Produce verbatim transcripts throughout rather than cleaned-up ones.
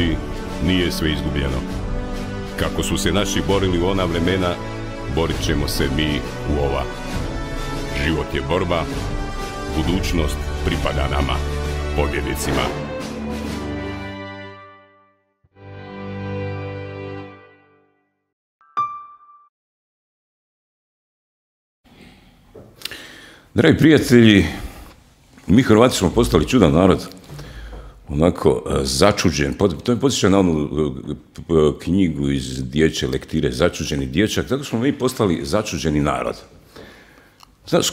ljudi, nije sve izgubljeno. Kako su se naši borili u ona vremena, borit ćemo se mi u ova. Život je borba, budućnost pripada nama, pobjednicima. Dragi prijatelji, mi Hrvati smo postali čudan narod, onako začuđen. To me podsjeća na onu knjigu iz dječje lektire, Začuđeni dječak. Tako smo mi postali začuđeni narod.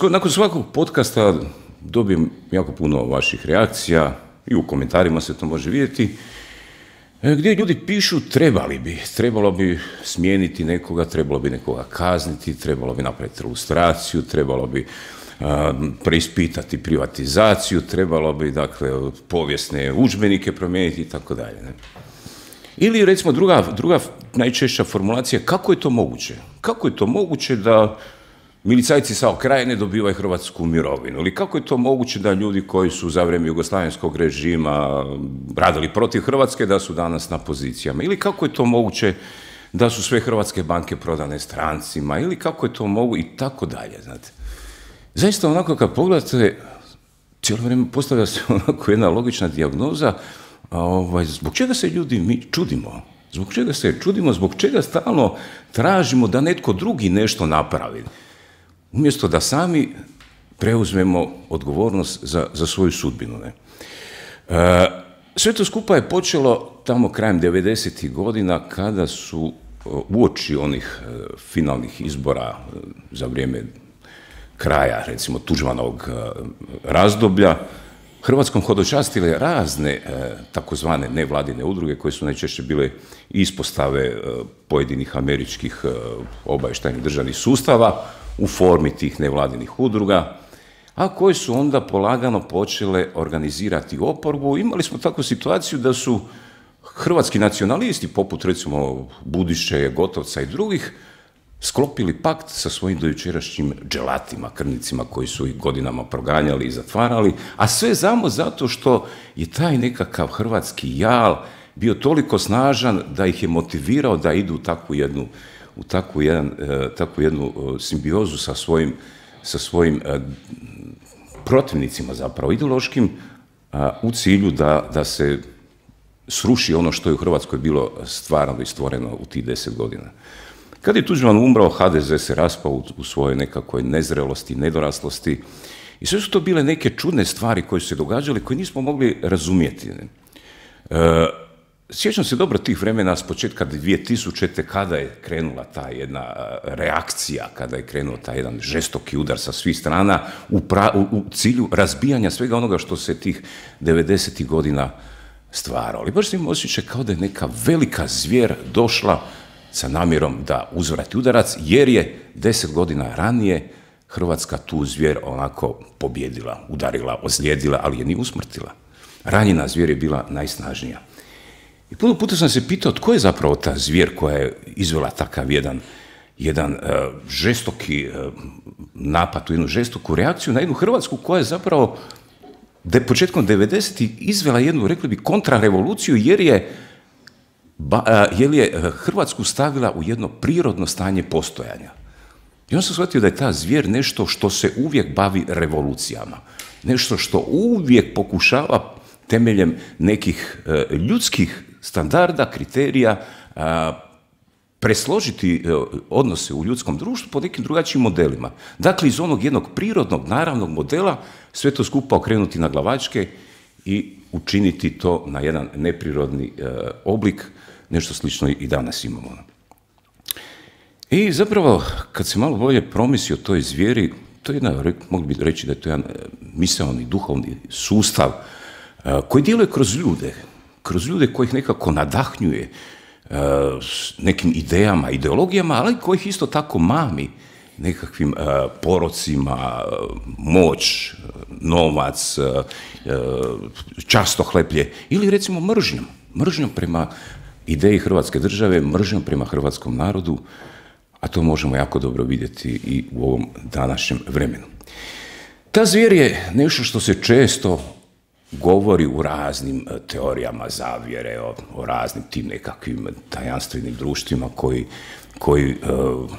Nakon svakog podcasta dobijem jako puno vaših reakcija i u komentarima se to može vidjeti, gdje ljudi pišu trebali bi, trebalo bi smijeniti nekoga, trebalo bi nekoga kazniti, trebalo bi napraviti ilustraciju, trebalo bi preispitati privatizaciju, trebalo bi, dakle, povijesne udžbenike promijeniti i tako dalje. Ili, recimo, druga, druga najčešća formulacija, kako je to moguće? Kako je to moguće da milicajci sa Krajine dobivaju hrvatsku mirovinu? Ili kako je to moguće da ljudi koji su za vrijeme jugoslavenskog režima radili protiv Hrvatske, da su danas na pozicijama? Ili kako je to moguće da su sve hrvatske banke prodane strancima? Ili kako je to moguće? I tako dalje, znate. Zaista, onako kad pogledate, cijelo vrijeme postavlja se onako jedna logična dijagnoza, a ovaj, zbog čega se ljudi mi čudimo? Zbog čega se čudimo? Zbog čega stalno tražimo da netko drugi nešto napravi? Umjesto da sami preuzmemo odgovornost za, za svoju sudbinu. Ne? E, sve to skupa je počelo tamo krajem devedesetih godina, kada su uoči onih e, finalnih izbora e, za vrijeme kraja, recimo, Tuđmanovog razdoblja, Hrvatskom hodočastile razne e, takozvane nevladine udruge, koje su najčešće bile ispostave e, pojedinih američkih e, obavještajnih državnih sustava u formi tih nevladinih udruga, a koje su onda polagano počele organizirati oporbu. Imali smo takvu situaciju da su hrvatski nacionalisti, poput recimo Budiše, Gotovca i drugih, sklopili pakt sa svojim dojučerašnjim dželatima, krvnicima koji su ih godinama proganjali i zatvarali, a sve samo zato što je taj nekakav hrvatski jal bio toliko snažan da ih je motivirao da idu u takvu jednu, u takvu, jedan, takvu jednu simbiozu sa svojim, sa svojim protivnicima, zapravo ideološkim, u cilju da, da se sruši ono što je u Hrvatskoj bilo stvarano i stvoreno u tih deset godina. Kad je Tuđman umrao, ha de ze se raspao u svojoj nekakvoj nezrelosti, nedoraslosti i sve su to bile neke čudne stvari koje su se događale, koje nismo mogli razumjeti. E, sjećam se dobro tih vremena s početka dvije tisućite. kada je krenula ta jedna reakcija, kada je krenuo taj jedan žestoki udar sa svih strana u, pra, u, u cilju razbijanja svega onoga što se tih devedesetih godina stvaralo. I baš se im osjeća kao da je neka velika zvijer došla sa namjerom da uzvrati udarac, jer je deset godina ranije Hrvatska tu zvijer onako pobjedila, udarila, ozlijedila, ali je ni usmrtila. Ranjena zvijer je bila najsnažnija. I puno puta sam se pitao tko je zapravo ta zvijer koja je izvela takav jedan, jedan uh, žestoki uh, napad, jednu žestoku reakciju na jednu Hrvatsku koja je zapravo de, početkom devedesetih izvela jednu, rekli bi, kontrarevoluciju, jer je Ba, jer je Hrvatsku stavila u jedno prirodno stanje postojanja. I on sam shvatio da je ta zvijer nešto što se uvijek bavi revolucijama. Nešto što uvijek pokušava temeljem nekih e, ljudskih standarda, kriterija, a, presložiti e, odnose u ljudskom društvu po nekim drugačijim modelima. Dakle, iz onog jednog prirodnog, naravnog modela sve to skupa okrenuti na glavačke i učiniti to na jedan neprirodni e, oblik, nešto slično i danas imamo. I zapravo, kad se malo bolje promisli o toj zvijeri, to je jedna, mogli bi reći da je to jedan misaoni, duhovni sustav e, koji djeluje kroz ljude, kroz ljude kojih nekako nadahnjuje e, nekim idejama, ideologijama, ali kojih isto tako mami nekakvim uh, porocima, uh, moć, uh, novac, uh, uh, častohleplje ili recimo mržnjom. Mržnjom prema ideji Hrvatske države, mržnjom prema hrvatskom narodu, a to možemo jako dobro vidjeti i u ovom današnjem vremenu. Ta zvijer je nešto što se često govori u raznim teorijama zavjere, o, o raznim tim nekakvim tajanstvenim društvima koji, koji uh,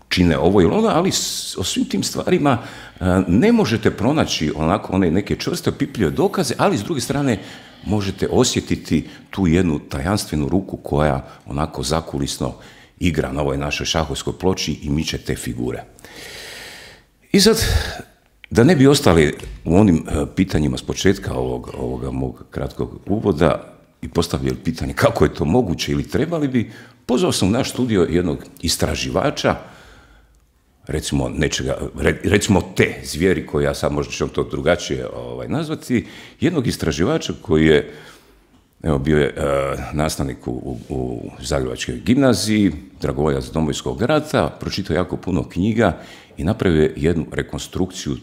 čine ovo ili ono, ali s, o svim tim stvarima uh, ne možete pronaći onako one neke čvrste opipljive dokaze, ali s druge strane možete osjetiti tu jednu tajanstvenu ruku koja onako zakulisno igra na ovoj našoj šahovskoj ploči i miče te figure. I sad, da ne bi ostali u onim pitanjima s početka ovog, ovoga mog kratkog uvoda i postavljali pitanje kako je to moguće ili trebali bi, pozvao sam u naš studio jednog istraživača, recimo nečega, recimo te zvijeri koje ja sad možda ću to drugačije ovaj, nazvati, jednog istraživača koji je, evo, bio je uh, nastavnik u, u, u Zagrebačkoj gimnaziji, dragovoljac Domovinskog rata, pročitao jako puno knjiga i napravio jednu rekonstrukciju,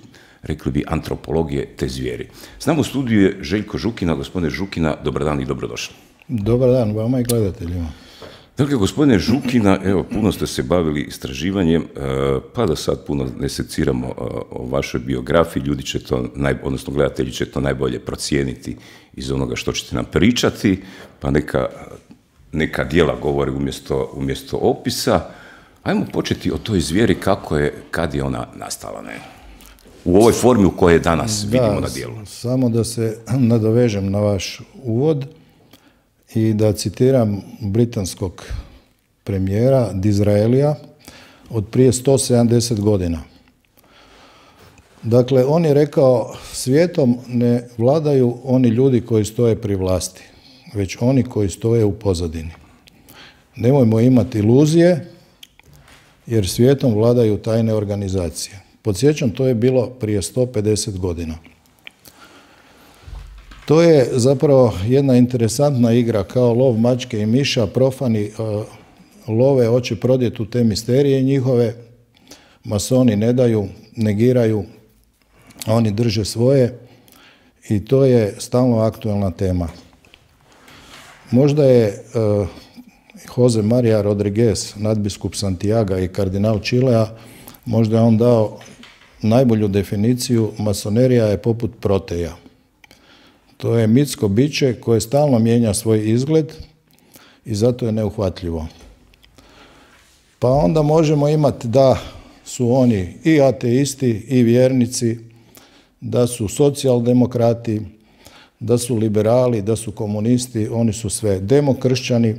rekli bi, antropologije te zvijeri. Znamo, u studiju je Željko Žukina. Gospodine Žukina, dobar dan i dobrodošli. Dobar dan vama i gledateljima. Dakle, gospodine Žukina, evo, puno ste se bavili istraživanjem, pa da sad puno ne seciramo o vašoj biografiji, ljudi će to, odnosno gledatelji će to najbolje procijeniti iz onoga što ćete nam pričati, pa neka, neka djela govore umjesto, umjesto opisa. Ajmo početi o toj zvijeri, kako je, kad je ona nastala, ne? U ovoj formi u kojoj je danas da, vidimo na djelu. Samo da se nadovežem na vaš uvod i da citiram britanskog premijera Disraelija od prije sto sedamdeset godina. Dakle, on je rekao, svijetom ne vladaju oni ljudi koji stoje pri vlasti, već oni koji stoje u pozadini. Nemojmo imati iluzije, jer svijetom vladaju tajne organizacije. Podsjećam, to je bilo prije sto pedeset godina. To je zapravo jedna interesantna igra, kao lov mačke i miša, profani uh, love, hoće prodjeti u te misterije njihove, masoni ne daju, negiraju, a oni drže svoje i to je stalno aktualna tema. Možda je uh, Jose Maria Rodriguez, nadbiskup Santiaga i kardinal Čilea, možda je on dao najbolju definiciju: masonerija je poput proteja. To je mitsko biće koje stalno mijenja svoj izgled i zato je neuhvatljivo. Pa onda možemo imati da su oni i ateisti i vjernici, da su socijaldemokrati, da su liberali, da su komunisti, oni su sve demokršćani.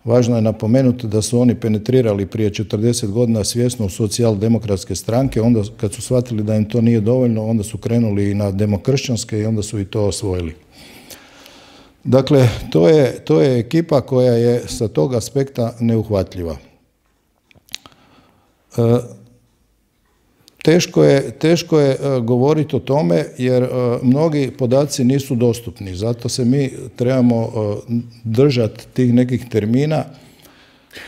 Važno je napomenuti da su oni penetrirali prije četrdeset godina svjesno u socijaldemokratske stranke, onda kad su shvatili da im to nije dovoljno, onda su krenuli i na demokršćanske i onda su i to osvojili. Dakle, to je, to je ekipa koja je sa tog aspekta neuhvatljiva. E, Teško je, teško je govoriti o tome jer mnogi podaci nisu dostupni, zato se mi trebamo držati tih nekih termina.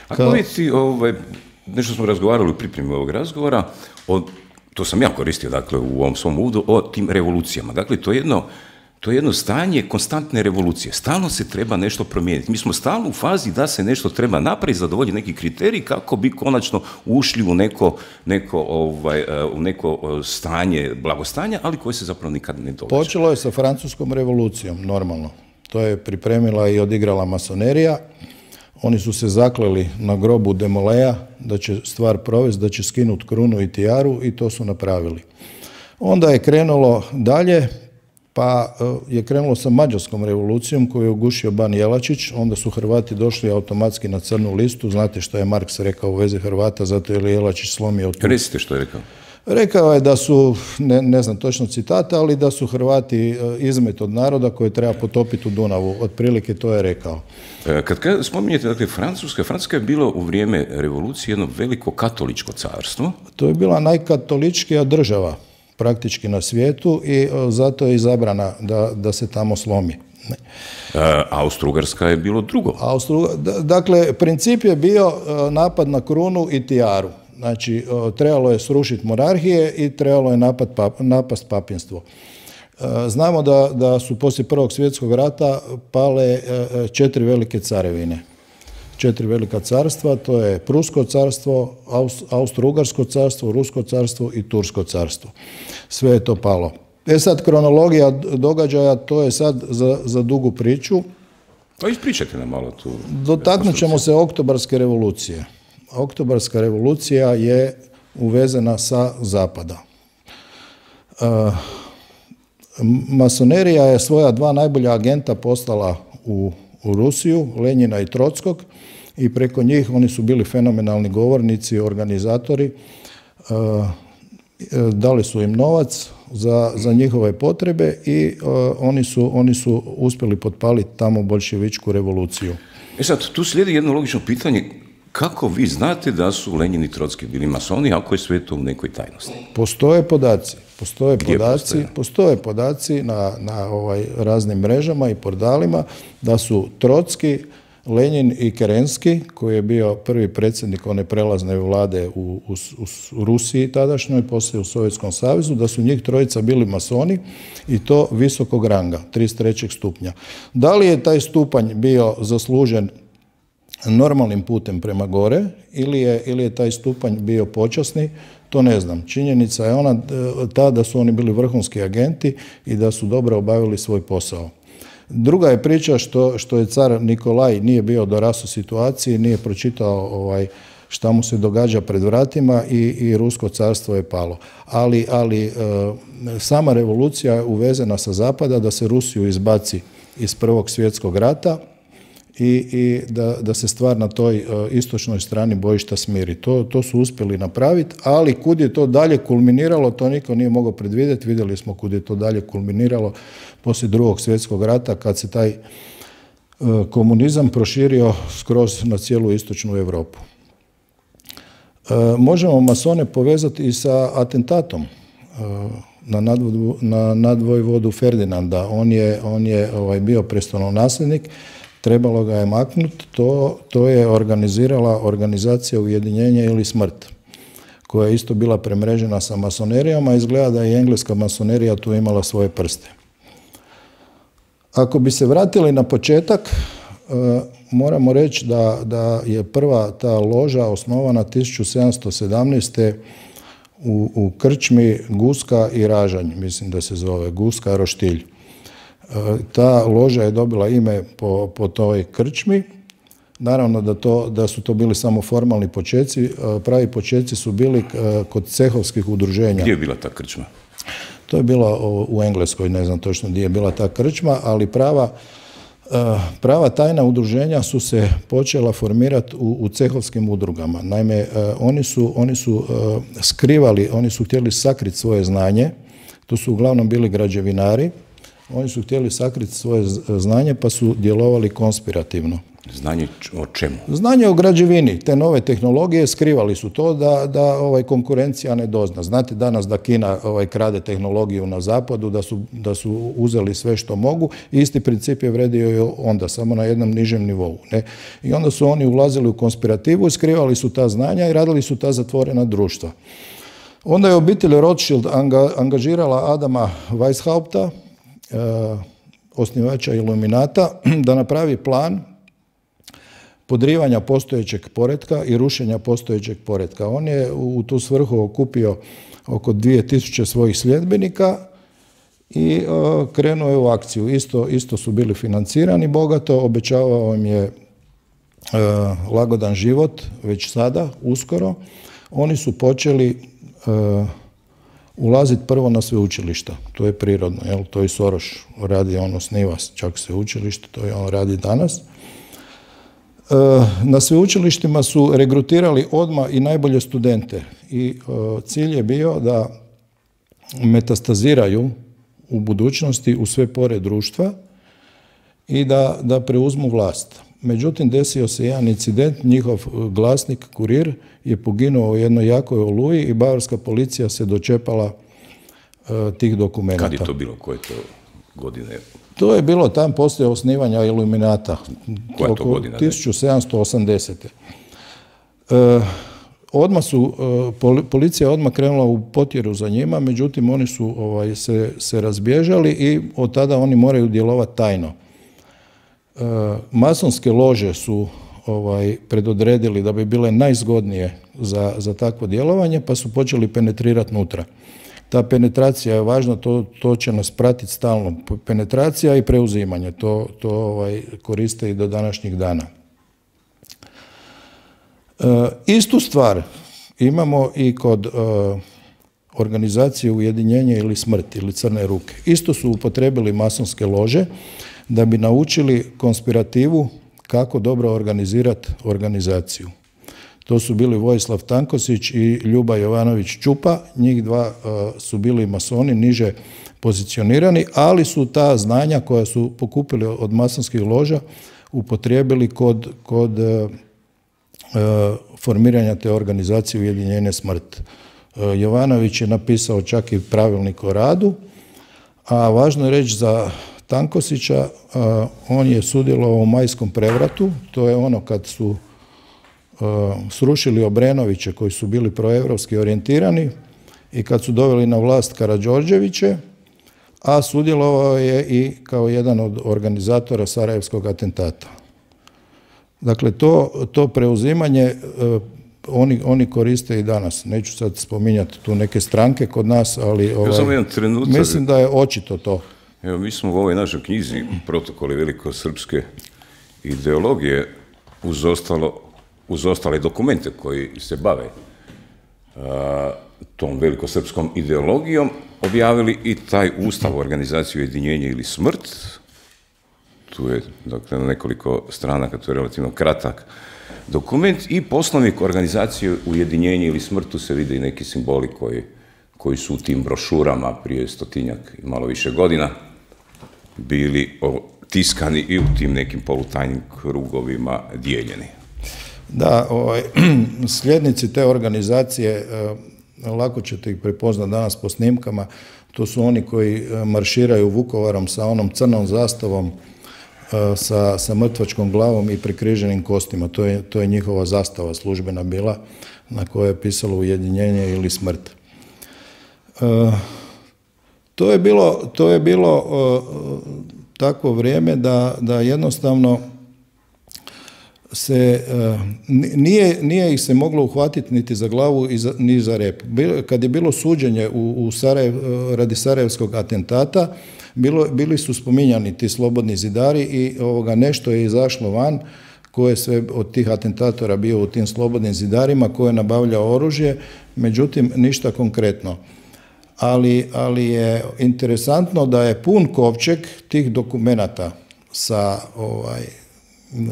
A povijesti, ovaj, nešto smo razgovarali u pripremi ovog razgovora, o, to sam ja koristio, dakle, u ovom svom uvodu, o tim revolucijama. Dakle, to je jedno, to je jedno stanje konstantne revolucije. Stalno se treba nešto promijeniti. Mi smo stalno u fazi da se nešto treba napraviti, zadovoljiti neki kriterij kako bi konačno ušli u neko, neko, ovaj, u neko stanje blagostanja, ali koje se zapravo nikad ne događa. Počelo je sa Francuskom revolucijom, normalno. To je pripremila i odigrala masonerija. Oni su se zakleli na grobu Demoleja da će stvar provesti, da će skinuti krunu i tijaru i to su napravili. Onda je krenulo dalje, pa je krenulo sa Mađarskom revolucijom koju je ugušio Ban Jelačić, onda su Hrvati došli automatski na crnu listu. Znate što je Marks rekao u vezi Hrvata, zato je Jelačić slomio tu. Recite što je rekao. Rekao je da su, ne, ne znam točno citata, ali da su Hrvati izmet od naroda koje treba potopiti u Dunavu. Otprilike to je rekao. Kad, kad spominjete, dakle, Francuska, Francuska je bilo u vrijeme revolucije jedno veliko katoličko carstvo. To je bila najkatoličkija država praktički na svijetu i zato je izabrana da, da se tamo slomi. E, Austro-Ugarska je bilo drugo. Austro, dakle, princip je bio napad na krunu i tijaru. Znači, trebalo je srušiti monarhije i trebalo je napad, pap, napast papinstvo. Znamo da, da su poslije Prvog svjetskog rata pale četiri velike carevine. Četiri velika carstva, to je Prusko carstvo, Austro-Ugarsko carstvo, Rusko carstvo i Tursko carstvo. Sve je to palo. E sad, kronologija događaja, to je sad za, za dugu priču. Pa ispričajte nam malo tu. Dotaknut ćemo se Oktobarske revolucije. Oktobarska revolucija je uvezena sa zapada. E, masonerija je svoja dva najbolja agenta poslala u, u Rusiju, Lenjina i Trockog, i preko njih oni su bili fenomenalni govornici, organizatori. E, dali su im novac za, za njihove potrebe i uh, oni, su, oni su uspjeli potpaliti tamo boljševičku revoluciju. E sad, tu slijedi jedno logično pitanje. Kako vi znate da su Lenjin i Trocki bili masoni, ako je sve to u nekoj tajnosti? Postoje podaci. Postoje podaci, postoje? postoje podaci na, na ovaj raznim mrežama i portalima da su Trocki, Lenjin i Kerenski, koji je bio prvi predsjednik one prelazne vlade u, u, u Rusiji tadašnjoj, poslije u Sovjetskom savezu, da su njih trojica bili masoni i to visokog ranga, trideset trećeg stupnja. Da li je taj stupanj bio zaslužen normalnim putem prema gore ili je, ili je taj stupanj bio počasni, to ne znam. Činjenica je ona ta da su oni bili vrhunski agenti i da su dobro obavili svoj posao. Druga je priča što, što je car Nikolaj nije bio dorasao situaciji, nije pročitao ovaj, šta mu se događa pred vratima i, i Rusko carstvo je palo. Ali, ali e, sama revolucija je uvezena sa zapada da se Rusiju izbaci iz Prvog svjetskog rata i, i da, da se stvar na toj e, istočnoj strani bojišta smiri. To, to su uspjeli napraviti, ali kud je to dalje kulminiralo, to niko nije mogao predvidjeti. Vidjeli smo kud je to dalje kulminiralo poslije Drugog svjetskog rata, kad se taj e, komunizam proširio skroz na cijelu istočnu Europu. E, možemo masone povezati i sa atentatom e, na, nadvodu, na nadvojvodu Ferdinanda. On je, on je ovaj, bio prestolonasljednik, trebalo ga je maknuti. To, to je organizirala organizacija Ujedinjenje ili smrt, koja je isto bila premrežena sa masonerijama. Izgleda da je i engleska masonerija tu imala svoje prste. Ako bi se vratili na početak, e, moramo reći da, da je prva ta loža osnovana tisuću sedamsto sedamnaeste. u, u krčmi Guska i Ražanj, mislim da se zove, Guska Roštilj. E, ta loža je dobila ime po, po toj krčmi. Naravno da, to, da su to bili samo formalni počeci, e, pravi počeci su bili e, kod cehovskih udruženja. Gdje je bila ta krčma? To je bilo u Engleskoj, ne znam točno gdje je bila ta krčma, ali prava, prava tajna udruženja su se počela formirati u, u cehovskim udrugama. Naime, oni su, oni su skrivali, oni su htjeli sakriti svoje znanje, to su uglavnom bili građevinari, oni su htjeli sakriti svoje znanje pa su djelovali konspirativno. Znanje o čemu? Znanje o građevini, te nove tehnologije, skrivali su to da, da ovaj, konkurencija ne dozna. Znate danas da Kina ovaj, krade tehnologiju na zapadu, da su, da su uzeli sve što mogu. Isti princip je vredio i onda, samo na jednom nižem nivou. Ne? I onda su oni ulazili u konspirativu, skrivali su ta znanja i radili su ta zatvorena društva. Onda je obitelj Rothschild anga, angažirala Adama Weishaupta, eh, osnivača Iluminata, da napravi plan podrivanja postojećeg poretka i rušenja postojećeg poretka. On je u tu svrhu okupio oko dvije tisuće svojih sljedbenika i uh, krenuo je u akciju. Isto, isto su bili financirani bogato, obećavao im je uh, lagodan život već sada, uskoro. Oni su počeli uh, ulaziti prvo na sveučilišta. To je prirodno, jel? To i Soros radi, on osniva čak sveučilište, to je on radi danas. Na sveučilištima su regrutirali odmah i najbolje studente i cilj je bio da metastaziraju u budućnosti u sve pore društva i da, da preuzmu vlast. Međutim, desio se jedan incident, njihov glasnik, kurir, je poginuo u jednoj jakoj oluji i bavarska policija se dočepala tih dokumenta. Kad je to bilo? Koje to godine? To je bilo tam poslije osnivanja Iluminata. Koja to godina? tisuću sedamsto osamdesete. E, odmah su, e, policija je odmah krenula u potjeru za njima, međutim oni su ovaj, se, se razbježali i od tada oni moraju djelovati tajno. E, masonske lože su ovaj, predodredili da bi bile najzgodnije za, za takvo djelovanje, pa su počeli penetrirati nutra. Ta penetracija je važna, to, to će nas pratiti stalno. Penetracija i preuzimanje, to, to ovaj, koriste i do današnjih dana. E, istu stvar imamo i kod e, organizacije Ujedinjenje ili smrt ili Crne ruke. Isto su upotrebili masonske lože da bi naučili konspirativu kako dobro organizirati organizaciju. To su bili Vojislav Tankosić i Ljuba Jovanović Čupa, njih dva uh, su bili masoni, niže pozicionirani, ali su ta znanja koja su pokupili od masonskih loža upotrijebili kod, kod uh, uh, formiranja te organizacije Ujedinjenje smrt. Uh, Jovanović je napisao čak i pravilnik o radu, a važno je reći za Tankosića, uh, on je sudjelovao u majskom prevratu, to je ono kad su srušili Obrenoviće koji su bili proevropski orijentirani i kad su doveli na vlast Karađorđeviće, a sudjelovao je i kao jedan od organizatora Sarajevskog atentata. Dakle, to, to preuzimanje oni, oni koriste i danas. Neću sad spominjati tu neke stranke kod nas, ali ovaj, mislim da je očito to. Evo, mi smo u ovoj našoj knjizi Protokoli velikosrpske ideologije uz ostalo uz ostale dokumente koji se bave uh, tom velikosrpskom ideologijom, objavili i taj ustav organizacije Ujedinjenje ili smrt. Tu je, dakle, na nekoliko stranaka, to je relativno kratak dokument, i poslovnik organizacije Ujedinjenje ili smrt, tu se vide i neki simboli koji, koji su u tim brošurama prije stotinjak i malo više godina bili tiskani i u tim nekim polutajnim krugovima dijeljeni. Da, ovaj, sljednici te organizacije, eh, lako ćete ih prepoznati danas po snimkama, to su oni koji marširaju Vukovarom sa onom crnom zastavom, eh, sa, sa mrtvačkom glavom i prekriženim kostima. To je, to je njihova zastava službena bila, na kojoj je pisalo Ujedinjenje ili smrt. Eh, to je bilo, to je bilo eh, takvo vrijeme da, da jednostavno se, nije, nije ih se moglo uhvatiti niti za glavu ni za rep. Kad je bilo suđenje u, u Sarajev, radi Sarajevskog atentata, bilo, bili su spominjani ti slobodni zidari i ovoga, nešto je izašlo van, ko je sve od tih atentatora bio u tim slobodnim zidarima, ko je nabavljao oružje, međutim ništa konkretno. Ali, ali je interesantno da je pun kovčeg tih dokumenata sa ovaj,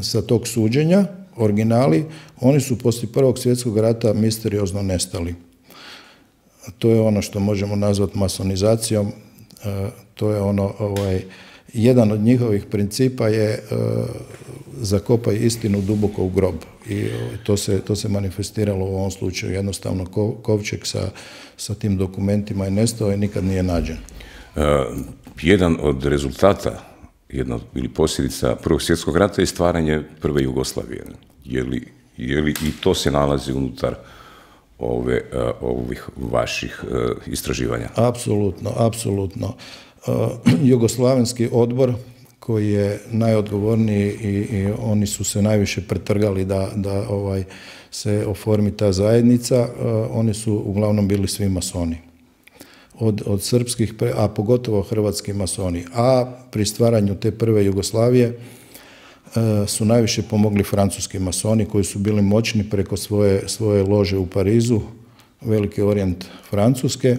sa tog suđenja, originali, oni su poslije Prvog svjetskog rata misteriozno nestali. To je ono što možemo nazvati masonizacijom, to je ono, ovaj, jedan od njihovih principa je zakopaj istinu duboko u grob. I to se, to se manifestiralo u ovom slučaju. Jednostavno kovčeg sa, sa tim dokumentima je nestao i nikad nije nađen. Uh, jedan od rezultata jedna ili posljedica Prvog svjetskog rata je stvaranje prve Jugoslavije. Je li, je li i to se nalazi unutar ove, uh, ovih vaših uh, istraživanja? Apsolutno, apsolutno. Uh, Jugoslavenski odbor koji je najodgovorniji i, i oni su se najviše pretrgali da, da ovaj, se oformi ta zajednica, uh, oni su uglavnom bili svi masoni. Od, od srpskih, a pogotovo hrvatski masoni. A pri stvaranju te prve Jugoslavije e, su najviše pomogli francuski masoni koji su bili moćni preko svoje, svoje lože u Parizu, Veliki orijent Francuske,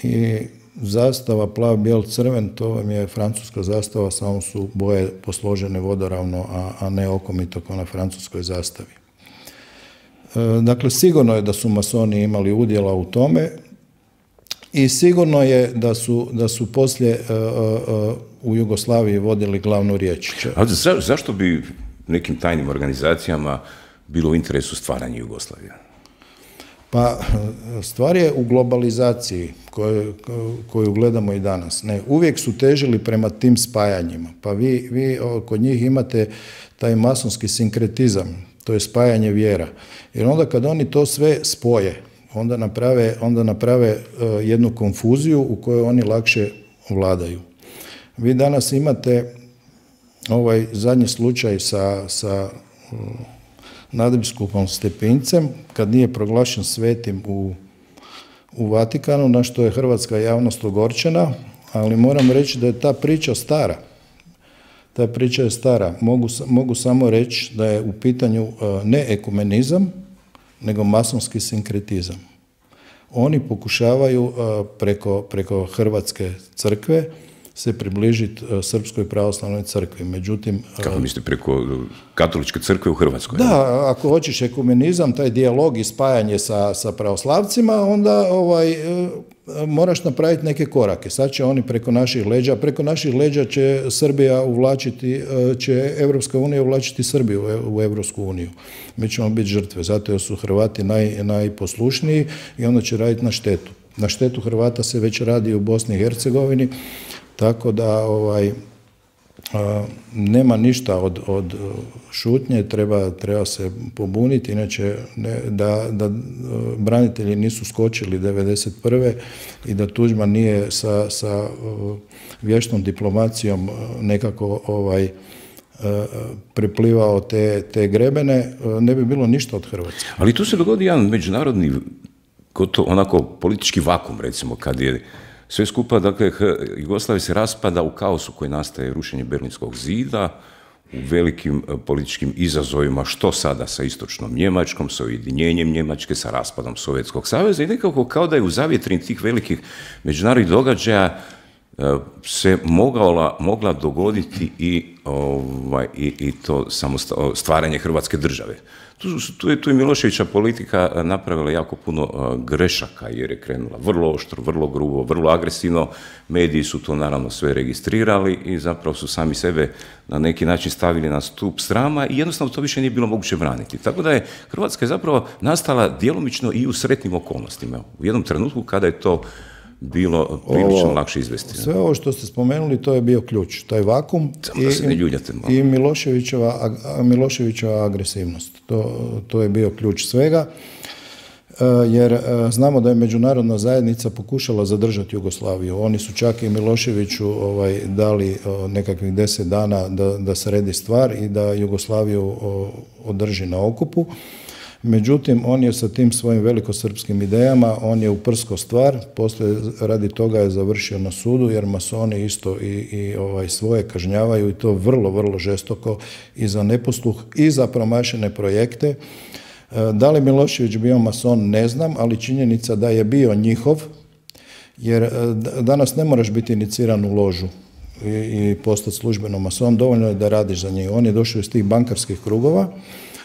i zastava plav, bijel, crven, to vam je francuska zastava, samo su boje posložene vodoravno, a, a ne okomito kao na francuskoj zastavi. E, dakle, sigurno je da su masoni imali udjela u tome, i sigurno je da su, da su poslije uh, uh, u Jugoslaviji vodili glavnu riječ. A za, zašto bi nekim tajnim organizacijama bilo u interesu stvaranja Jugoslavije? Pa stvar je u globalizaciji koju, koju gledamo i danas. Ne, uvijek su težili prema tim spajanjima. Pa vi, vi kod njih imate taj masonski sinkretizam, to je spajanje vjera. Jer onda kad oni to sve spoje, onda naprave, onda naprave uh, jednu konfuziju u kojoj oni lakše vladaju. Vi danas imate ovaj zadnji slučaj sa, sa uh, nadbiskupom Stepincem, kad nije proglašen svetim u, u Vatikanu, na što je hrvatska javnost ogorčena, ali moram reći da je ta priča stara. Ta priča je stara. Mogu, mogu samo reći da je u pitanju ne ekumenizam, nego masonski sinkretizam. Oni pokušavaju preko, preko hrvatske crkve se približiti Srpskoj pravoslavnoj crkvi. Međutim, kako mislite, preko katoličke crkve u Hrvatskoj? Da, ako hoćeš ekumenizam, taj dijalog i spajanje sa, sa pravoslavcima, onda ovaj, moraš napraviti neke korake. Sad će oni preko naših leđa, preko naših leđa će Srbija uvlačiti, će Evropska unija uvlačiti Srbiju u Evropsku uniju. Mi ćemo biti žrtve, zato jer su Hrvati naj, najposlušniji i onda će raditi na štetu. Na štetu Hrvata se već radi u Bosni i Hercegovini, tako da ovaj, a, nema ništa od, od šutnje, treba, treba se pobuniti, inače ne, da, da branitelji nisu skočili devedeset prve i da Tuđman nije sa, sa vješnom diplomacijom nekako ovaj, preplivao te, te grebene, ne bi bilo ništa od Hrvatske. Ali tu se dogodi jedan međunarodni, gotovo onako politički vakum, recimo, kad je sve skupa, dakle, Jugoslavija se raspada u kaosu koji nastaje rušenjem Berlinskog zida, u velikim političkim izazovima, što sada sa istočnom Njemačkom, sa ujedinjenjem Njemačke, sa raspadom Sovjetskog saveza i nekako kao da je u zavjetrini tih velikih međunarodnih događaja se mogla, mogla dogoditi i, ovaj, i, i to samo stvaranje Hrvatske države. Tu, tu, je, tu je Miloševića politika napravila jako puno grešaka jer je krenula vrlo oštro, vrlo grubo, vrlo agresivno. Mediji su to naravno sve registrirali i zapravo su sami sebe na neki način stavili na stup srama i jednostavno to više nije bilo moguće braniti. Tako da je Hrvatska je zapravo nastala djelomično i u sretnim okolnostima. U jednom trenutku kada je to bilo prilično lakše izvesti. Sve ovo što ste spomenuli, to je bio ključ, taj vakum i, i Miloševićeva, Miloševićeva agresivnost. To, to je bio ključ svega, jer znamo da je međunarodna zajednica pokušala zadržati Jugoslaviju. Oni su čak i Miloševiću ovaj, dali nekakvih deset dana da, da sredi stvar i da Jugoslaviju održi na okupu. Međutim, on je sa tim svojim velikosrpskim idejama, on je uprsko stvar, poslije radi toga je završio na sudu, jer masoni isto i, i ovaj, svoje kažnjavaju i to vrlo, vrlo žestoko i za neposluh i za promašene projekte. Da li Milošević bio mason, ne znam, ali činjenica da je bio njihov, jer danas ne moraš biti iniciran u ložu i, i postati službeno mason, dovoljno je da radiš za njih. On je došao iz tih bankarskih krugova.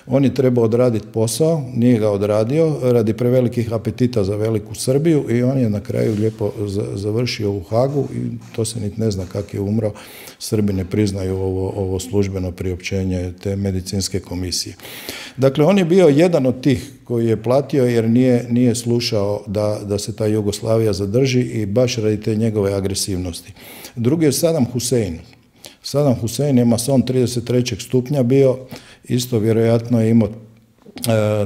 On je trebao odraditi posao, nije ga odradio, radi prevelikih apetita za veliku Srbiju i on je na kraju lijepo završio u Hagu i to se niti ne zna kak je umro. Srbi ne priznaju ovo, ovo službeno priopćenje te medicinske komisije. Dakle, on je bio jedan od tih koji je platio jer nije, nije slušao da, da se ta Jugoslavija zadrži i baš radi te njegove agresivnosti. Drugi je Saddam Hussein. Saddam Hussein je mason trideset trećeg stupnja bio, isto vjerojatno je imao e,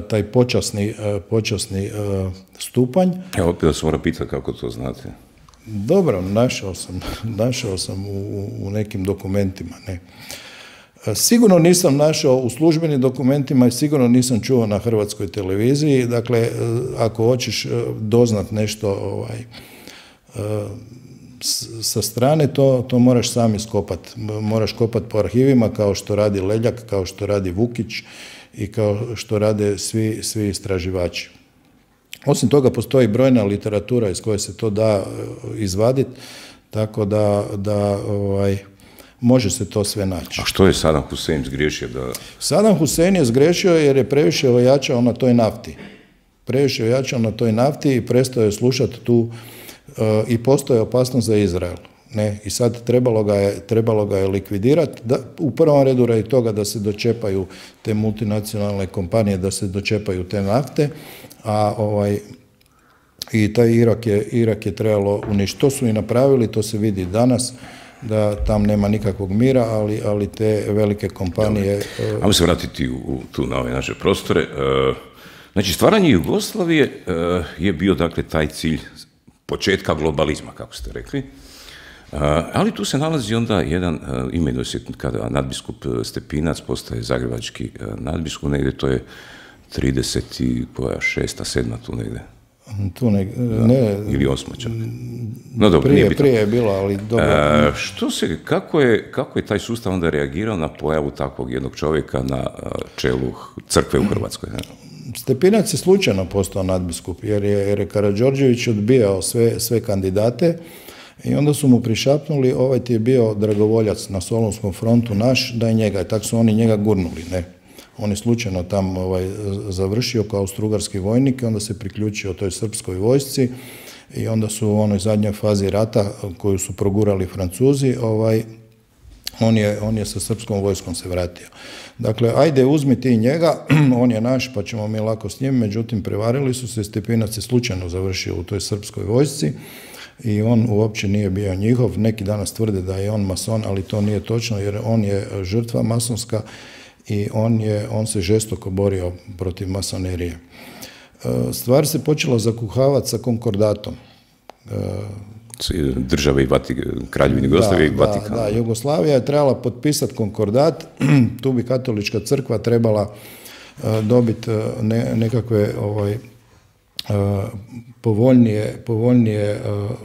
taj počasni, e, počasni e, stupanj. Evo, opet da se mora pitati kako to znate. Dobro, našao sam, našao sam u, u nekim dokumentima. Ne. Sigurno nisam našao u službenim dokumentima i sigurno nisam čuo na hrvatskoj televiziji. Dakle, ako hoćeš doznat nešto ovaj, sa strane, to, to moraš sam iskopati. Moraš kopati po arhivima kao što radi Leljak, kao što radi Vukić i kao što rade svi, svi istraživači. Osim toga, postoji brojna literatura iz koje se to da izvaditi, tako da, da ovaj, može se to sve naći. A što je Saddam Hussein zgriješio? Da... Saddam Hussein je zgriješio jer je previše ojačao na toj nafti. Previše ojačao na toj nafti i prestao je slušati tu uh, i postoje opasnost za Izrael. Ne? I sad trebalo ga je, trebalo ga je likvidirati, da, u prvom redu radi toga da se dočepaju te multinacionalne kompanije, da se dočepaju te nafte, a ovaj, i taj Irak je, Irak je trebalo uništiti. To su i napravili, to se vidi danas, da tam nema nikakvog mira, ali, ali te velike kompanije... Dobre. Ajmo se vratiti u, tu na ove naše prostore. Znači, stvaranje Jugoslavije je bio, dakle, taj cilj početka globalizma, kako ste rekli. Ali tu se nalazi onda jedan, imenuje se kada nadbiskup Stepinac postaje zagrebački nadbiskup, negdje to je trideset šesta, sedma tu negdje. Tu ne, ne, ili osma čak. No dobro, prije, nije bitno. prije je bilo, ali dobro. E, što se, kako je, kako je taj sustav onda reagirao na pojavu takvog jednog čovjeka na čelu crkve u Hrvatskoj? Ne? Stepinac je slučajno postao nadbiskup, jer je, jer je Karađorđević odbijao sve, sve kandidate i onda su mu prišapnuli, ovaj ti je bio dragovoljac na Solunskom frontu naš, daj njega. I tako su oni njega gurnuli, ne. On je slučajno tam ovaj, završio kao austrougarski vojnik i onda se priključio toj srpskoj vojsci i onda su u onoj zadnjoj fazi rata koju su progurali Francuzi, ovaj, on je, on je sa srpskom vojskom se vratio. Dakle, ajde uzmi ti njega, on je naš pa ćemo mi lako s njim, međutim prevarili su se, Stepinac je slučajno završio u toj srpskoj vojsci i on uopće nije bio njihov. Neki danas tvrde da je on mason, ali to nije točno jer on je žrtva masonska i on, je, on se žestoko borio protiv masonerije. Stvar se počela zakuhavati sa konkordatom. Države i Vatik, Kraljevine Jugoslavije i Vatikana. Da, da, Jugoslavija je trebala potpisati konkordat, tu bi katolička crkva trebala dobiti ne, nekakve ovaj, povoljnije, povoljnije,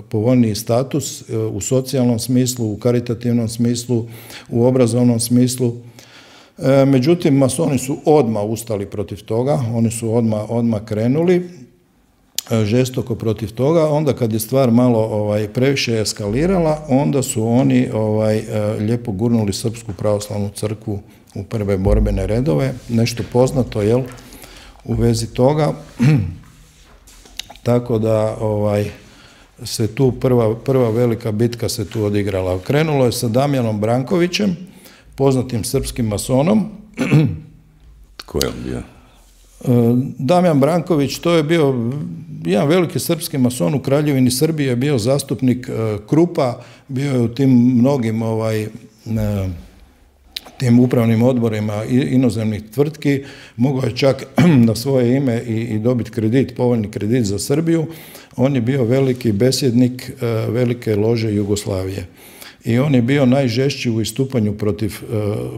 povoljniji status u socijalnom smislu, u karitativnom smislu, u obrazovnom smislu. Međutim, masoni su odmah ustali protiv toga, oni su odmah, odmah krenuli žestoko protiv toga. Onda kad je stvar malo ovaj, previše eskalirala, onda su oni ovaj, lijepo gurnuli Srpsku pravoslavnu crkvu u prve borbene redove. Nešto poznato, jel, u vezi toga. Tako da ovaj, se tu prva, prva velika bitka se tu odigrala. Krenulo je sa Damjanom Brankovićem, poznatim srpskim masonom. Tko je on bio? Damjan Branković, to je bio jedan veliki srpski mason u Kraljevini Srbije, bio zastupnik Krupa, bio je u tim mnogim ovaj, tim upravnim odborima inozemnih tvrtki, mogao je čak na svoje ime i, i dobiti kredit, povoljni kredit za Srbiju. On je bio veliki besjednik velike lože Jugoslavije. I on je bio najžešći u istupanju protiv,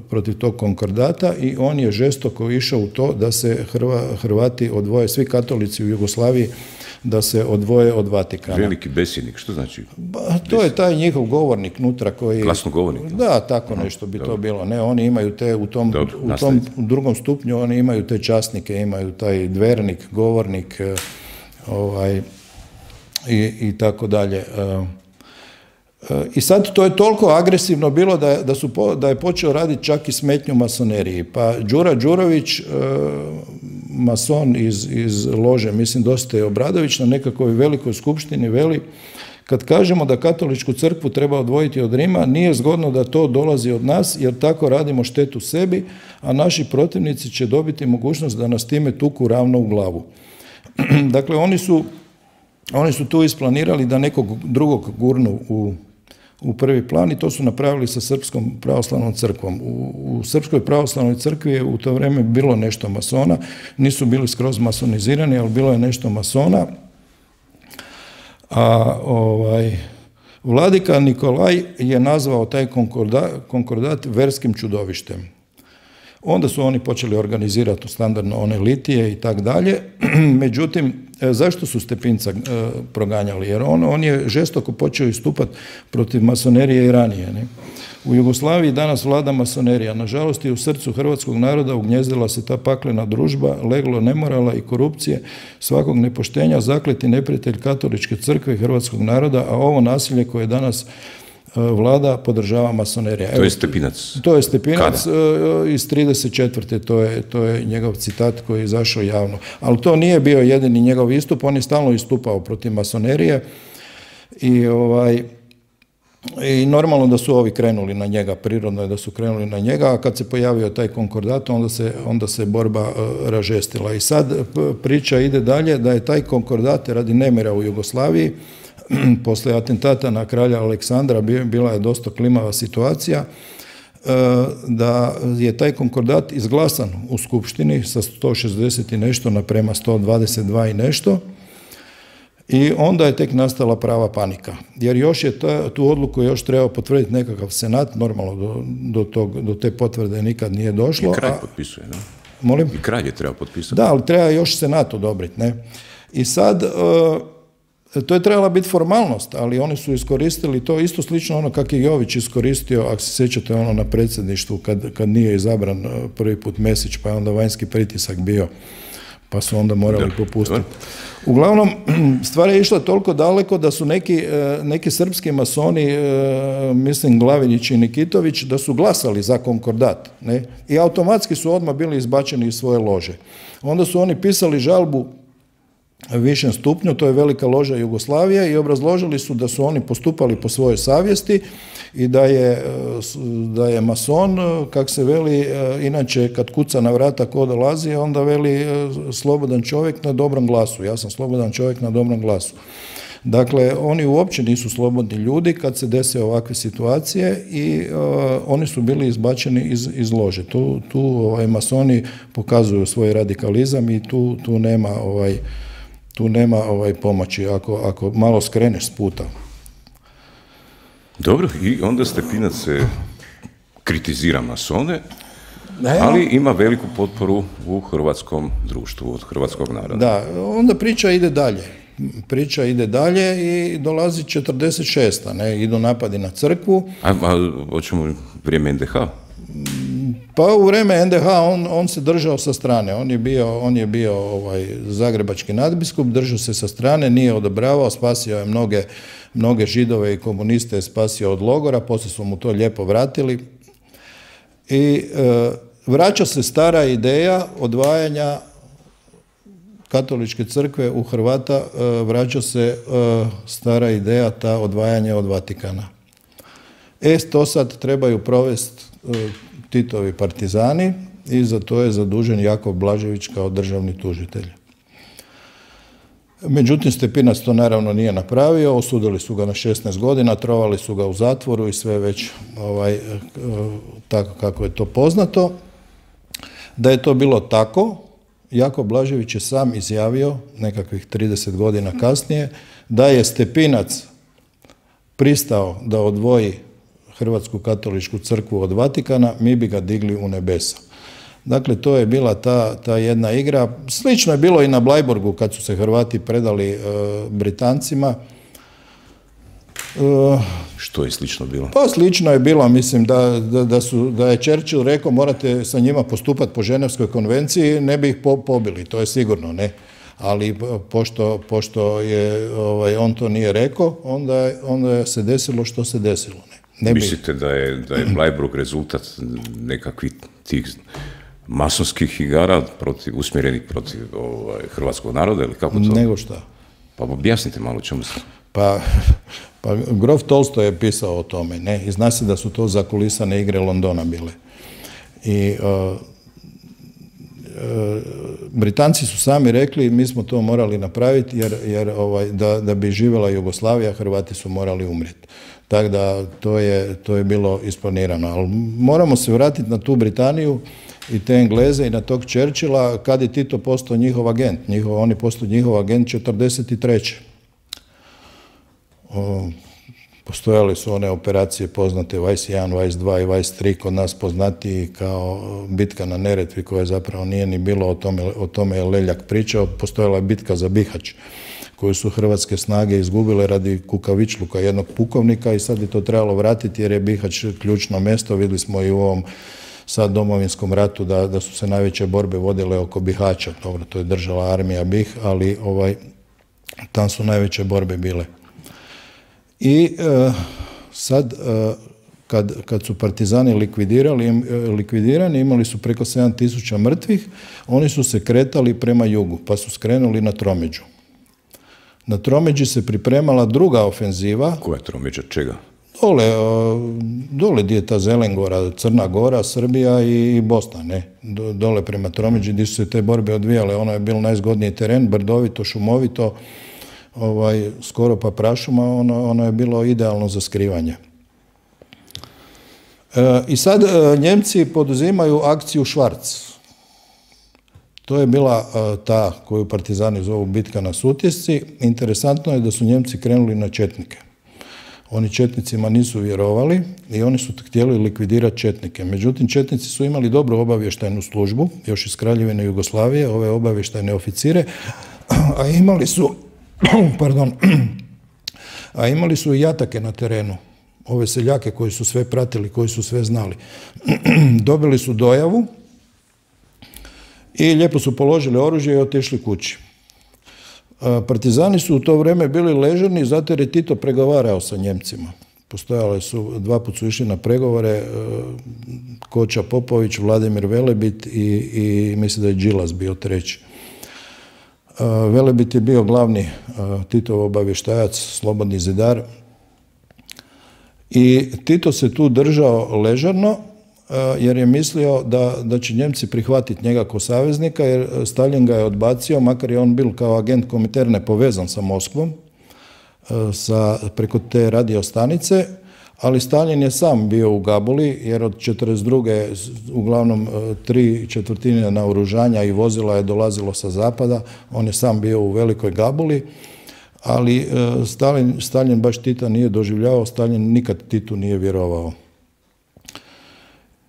protiv tog konkordata i on je žestoko išao u to da se Hrva, Hrvati odvoje, svi katolici u Jugoslaviji, da se odvoje od Vatikana. Veliki besjednik, što znači? Ba, to je taj njihov govornik nutra koji... Glasnogovornik? Da, tako nešto bi Dobro. to bilo. Ne, oni imaju te, u tom, Dobro, u tom drugom stupnju, oni imaju te časnike, imaju taj dvernik, govornik, ovaj, i, i tako dalje. I sad to je toliko agresivno bilo da je, da su, da je počeo raditi čak i smetnju masoneriji. Pa Đura Đurović, mason iz, iz lože, mislim Dositej Obradović, na nekakvoj velikoj skupštini veli, kad kažemo da katoličku crkvu treba odvojiti od Rima, nije zgodno da to dolazi od nas, jer tako radimo štetu sebi, a naši protivnici će dobiti mogućnost da nas time tuku ravno u glavu. Dakle, oni su, oni su tu isplanirali da nekog drugog gurnu u u prvi plan i to su napravili sa Srpskom pravoslavnom crkvom. U, u Srpskoj pravoslavnoj crkvi je u to vrijeme bilo nešto masona, nisu bili skroz masonizirani, ali bilo je nešto masona. A ovaj, vladika Nikolaj je nazvao taj konkordat, konkordat verskim čudovištem. Onda su oni počeli organizirati standardno one litije i tak dalje. Međutim, zašto su Stepinca proganjali? Jer on, on je žestoko počeo istupati protiv masonerije i ranije. Ne? U Jugoslaviji danas vlada masonerija. Nažalost, i u srcu hrvatskog naroda ugnijezdila se ta paklena družba, leglo nemorala i korupcije, svakog nepoštenja, zakleti neprijatelj katoličke crkve i hrvatskog naroda, a ovo nasilje koje danas vlada podržava masonerija. To je Stepinac. To je Stepinac Kada? iz trideset četvrte To je, to je njegov citat koji je izašao javno. Ali to nije bio jedini njegov istup, on je stalno istupao protiv masonerije i, ovaj, i normalno da su ovi krenuli na njega, prirodno je da su krenuli na njega, a kad se pojavio taj konkordat, onda se, onda se borba uh, ražestila. I sad priča ide dalje da je taj konkordat radi nemira u Jugoslaviji, poslije atentata na kralja Aleksandra bila je dosta klimava situacija, da je taj konkordat izglasan u Skupštini sa sto šezdeset i nešto naprema sto dvadeset dva i nešto i onda je tek nastala prava panika. Jer još je ta, tu odluku još trebao potvrditi nekakav senat, normalno do, do, tog, do te potvrde nikad nije došlo. I kralj potpisuje, ne? Molim? I kralj je trebao potpisati. Da, ali treba još senat odobriti, ne? I sad, to je trebala biti formalnost, ali oni su iskoristili to isto slično ono kako je Jović iskoristio, ako se sjećate ono na predsjedništvu kad, kad nije izabran prvi put Mesić, pa je onda vanjski pritisak bio, pa su onda morali popustiti. Uglavnom, stvar je išla toliko daleko da su neki, neki srpski masoni, mislim Glavinić i Nikitović, da su glasali za konkordat. Ne? I automatski su odmah bili izbačeni iz svoje lože. Onda su oni pisali žalbu višem stupnju, to je Velika loža Jugoslavije, i obrazložili su da su oni postupali po svojoj savjesti i da je, da je mason, kak se veli, inače kad kuca na vrata ko dolazi, onda veli slobodan čovjek na dobrom glasu. Ja sam slobodan čovjek na dobrom glasu. Dakle, oni uopće nisu slobodni ljudi kad se dese ovakve situacije i uh, oni su bili izbačeni iz, iz lože. Tu, tu ovaj, masoni pokazuju svoj radikalizam i tu, tu nema ovaj, tu nema ovaj pomoći ako, ako malo skreneš s puta. Dobro, i onda Stepinac se kritizira masone, ali ima veliku potporu u hrvatskom društvu, od hrvatskog naroda. Da, onda priča ide dalje. Priča ide dalje i dolazi četrdeset šesta. Ne, idu napadi na crkvu. A, a hoćemo vrijeme en de ha? Pa u vrijeme en de ha on, on se držao sa strane. On je bio, on je bio ovaj, zagrebački nadbiskup, držao se sa strane, nije odobravao, spasio je mnoge, mnoge židove i komuniste, je spasio od logora, poslije su mu to lijepo vratili. I e, vraća se stara ideja odvajanja katoličke crkve u Hrvata, e, vraća se e, stara ideja ta odvajanja od Vatikana. E, to sad trebaju provesti e, Titovi partizani i za to je zadužen Jakov Blažević kao državni tužitelj. Međutim, Stepinac to naravno nije napravio, osudili su ga na šesnaest godina, trovali su ga u zatvoru i sve već ovaj, tako kako je to poznato. Da je to bilo tako, Jakov Blažević je sam izjavio, nekakvih trideset godina kasnije, da je Stepinac pristao da odvoji Hrvatsku katoličku crkvu od Vatikana, mi bi ga digli u nebesa. Dakle, to je bila ta, ta jedna igra. Slično je bilo i na Bleiburgu kad su se Hrvati predali e, Britancima. E, Što je slično bilo? Pa slično je bilo, mislim da, da, da, su, da je Churchill rekao morate sa njima postupati po Ženevskoj konvenciji, ne bi ih po, pobili, to je sigurno, ne. Ali pošto, pošto je, ovaj, on to nije rekao, onda, onda je se desilo što se desilo, ne. Ne Mislite da je, da je Bleiburg rezultat nekakvih tih masonskih igara protiv, usmjerenih protiv ovaj, hrvatskog naroda ili kako to? Nego šta? Pa objasnite malo čemu se... Pa, pa grof Tolstoj je pisao o tome, ne? I zna se da su to zakulisane igre Londona bile. I uh, uh, Britanci su sami rekli mi smo to morali napraviti jer, jer ovaj, da, da bi živjela Jugoslavija, Hrvati su morali umrijeti. Tako da to je, to je bilo isplanirano. Ali moramo se vratiti na tu Britaniju i te Engleze i na tog Churchilla kad je Tito postao njihov agent. Njihov, on je postao njihov agent četrdeset treće. O, postojale su one operacije poznate Vajs jedan, Vajs dva i Vajs tri, kod nas poznatiji kao bitka na Neretvi koja zapravo nije ni bilo, o tome, o tome je Leljak pričao. Postojala je bitka za Bihać koju su hrvatske snage izgubile radi kukavičluka jednog pukovnika i sad je to trebalo vratiti jer je Bihać ključno mjesto. Vidjeli smo i u ovom sad domovinskom ratu da, da su se najveće borbe vodile oko Bihaća. Dobro, to je držala armija Bih, ali ovaj, tam su najveće borbe bile. I e, sad, e, kad, kad su partizani likvidirali, likvidirani, imali su preko sedam tisuća mrtvih, oni su se kretali prema jugu, pa su skrenuli na Tromeđu. Na Tromeđi se pripremala druga ofenziva. Koja je Tromeđa? Čega? Dole, dole gdje je ta Zelengora, Crna Gora, Srbija i Bosna, ne? Dole prema Tromeđi gdje su se te borbe odvijale. Ono je bilo najzgodniji teren, brdovito, šumovito, ovaj, skoro pa prašuma, ono, ono je bilo idealno za skrivanje. E, I sad e, Njemci poduzimaju akciju Švarc. To je bila uh, ta koju partizani zovu bitka na Sutjesci. Interesantno je da su Njemci krenuli na četnike. Oni četnicima nisu vjerovali i oni su htjeli likvidirati četnike. Međutim, četnici su imali dobru obavještajnu službu, još iz Kraljevine Jugoslavije, ove obavještajne oficire. a imali su, pardon, a imali su i jatake na terenu, ove seljake koji su sve pratili, koji su sve znali. Dobili su dojavu i lijepo su položili oružje i otišli kući. Partizani su u to vrijeme bili ležerni zato jer je Tito pregovarao sa Njemcima. Postojale su, dva put su išli na pregovore, Koča Popović, Vladimir Velebit i, i mislim da je Đilas bio treći. Velebit je bio glavni Titov obavještajac, slobodni zidar. I Tito se tu držao ležerno jer je mislio da, da će Njemci prihvatiti njega kao saveznika, jer Stalin ga je odbacio, makar je on bil kao agent Kominterne povezan sa Moskvom, sa, preko te radiostanice, ali Stalin je sam bio u Gabuli, jer od četrdeset druge uglavnom tri četvrtine naoružanja i vozila je dolazilo sa zapada, on je sam bio u Velikoj Gabuli, ali Stalin, Stalin baš Tita nije doživljavao, Stalin nikad Titu nije vjerovao.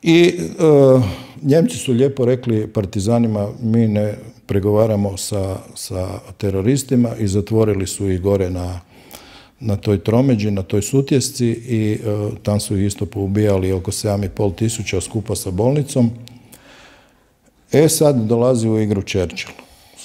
I e, Njemci su lijepo rekli partizanima, mi ne pregovaramo sa, sa teroristima, i zatvorili su ih gore na, na toj tromeđi, na toj Sutjesci, i e, tam su ih isto poubijali oko sedam i pol tisuća skupa sa bolnicom. E sad dolazi u igru Churchill.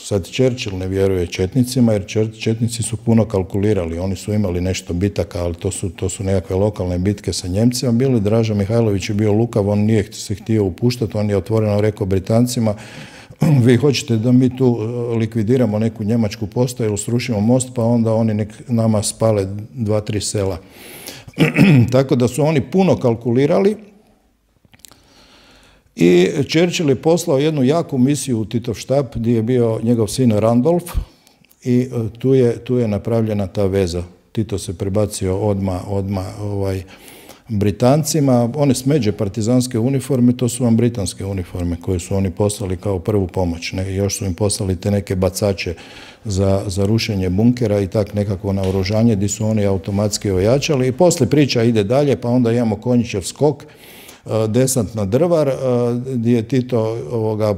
Sad Churchill ne vjeruje četnicima, jer četnici su puno kalkulirali, oni su imali nešto bitaka, ali to su, to su nekakve lokalne bitke sa Njemcima bili. Draža Mihajlović je bio lukav, on nije se htio upuštati, on je otvoreno rekao Britancima, vi hoćete da mi tu likvidiramo neku njemačku postaju, srušimo most, pa onda oni nek nama spale dva, tri sela. Tako da su oni puno kalkulirali. I Churchill je poslao jednu jaku misiju u Titov štab gdje je bio njegov sin Randolph, i tu je, tu je napravljena ta veza. Tito se prebacio odma, odma ovaj, Britancima. One smeđe partizanske uniforme, to su vam britanske uniforme koje su oni poslali kao prvu pomoć. Ne? Još su im poslali te neke bacače za, za rušenje bunkera i tak nekako naoružanje gdje su oni automatski ojačali. I poslije priča ide dalje, pa onda imamo Konjićev skok, desant na Drvar, gdje je Tito ovoga,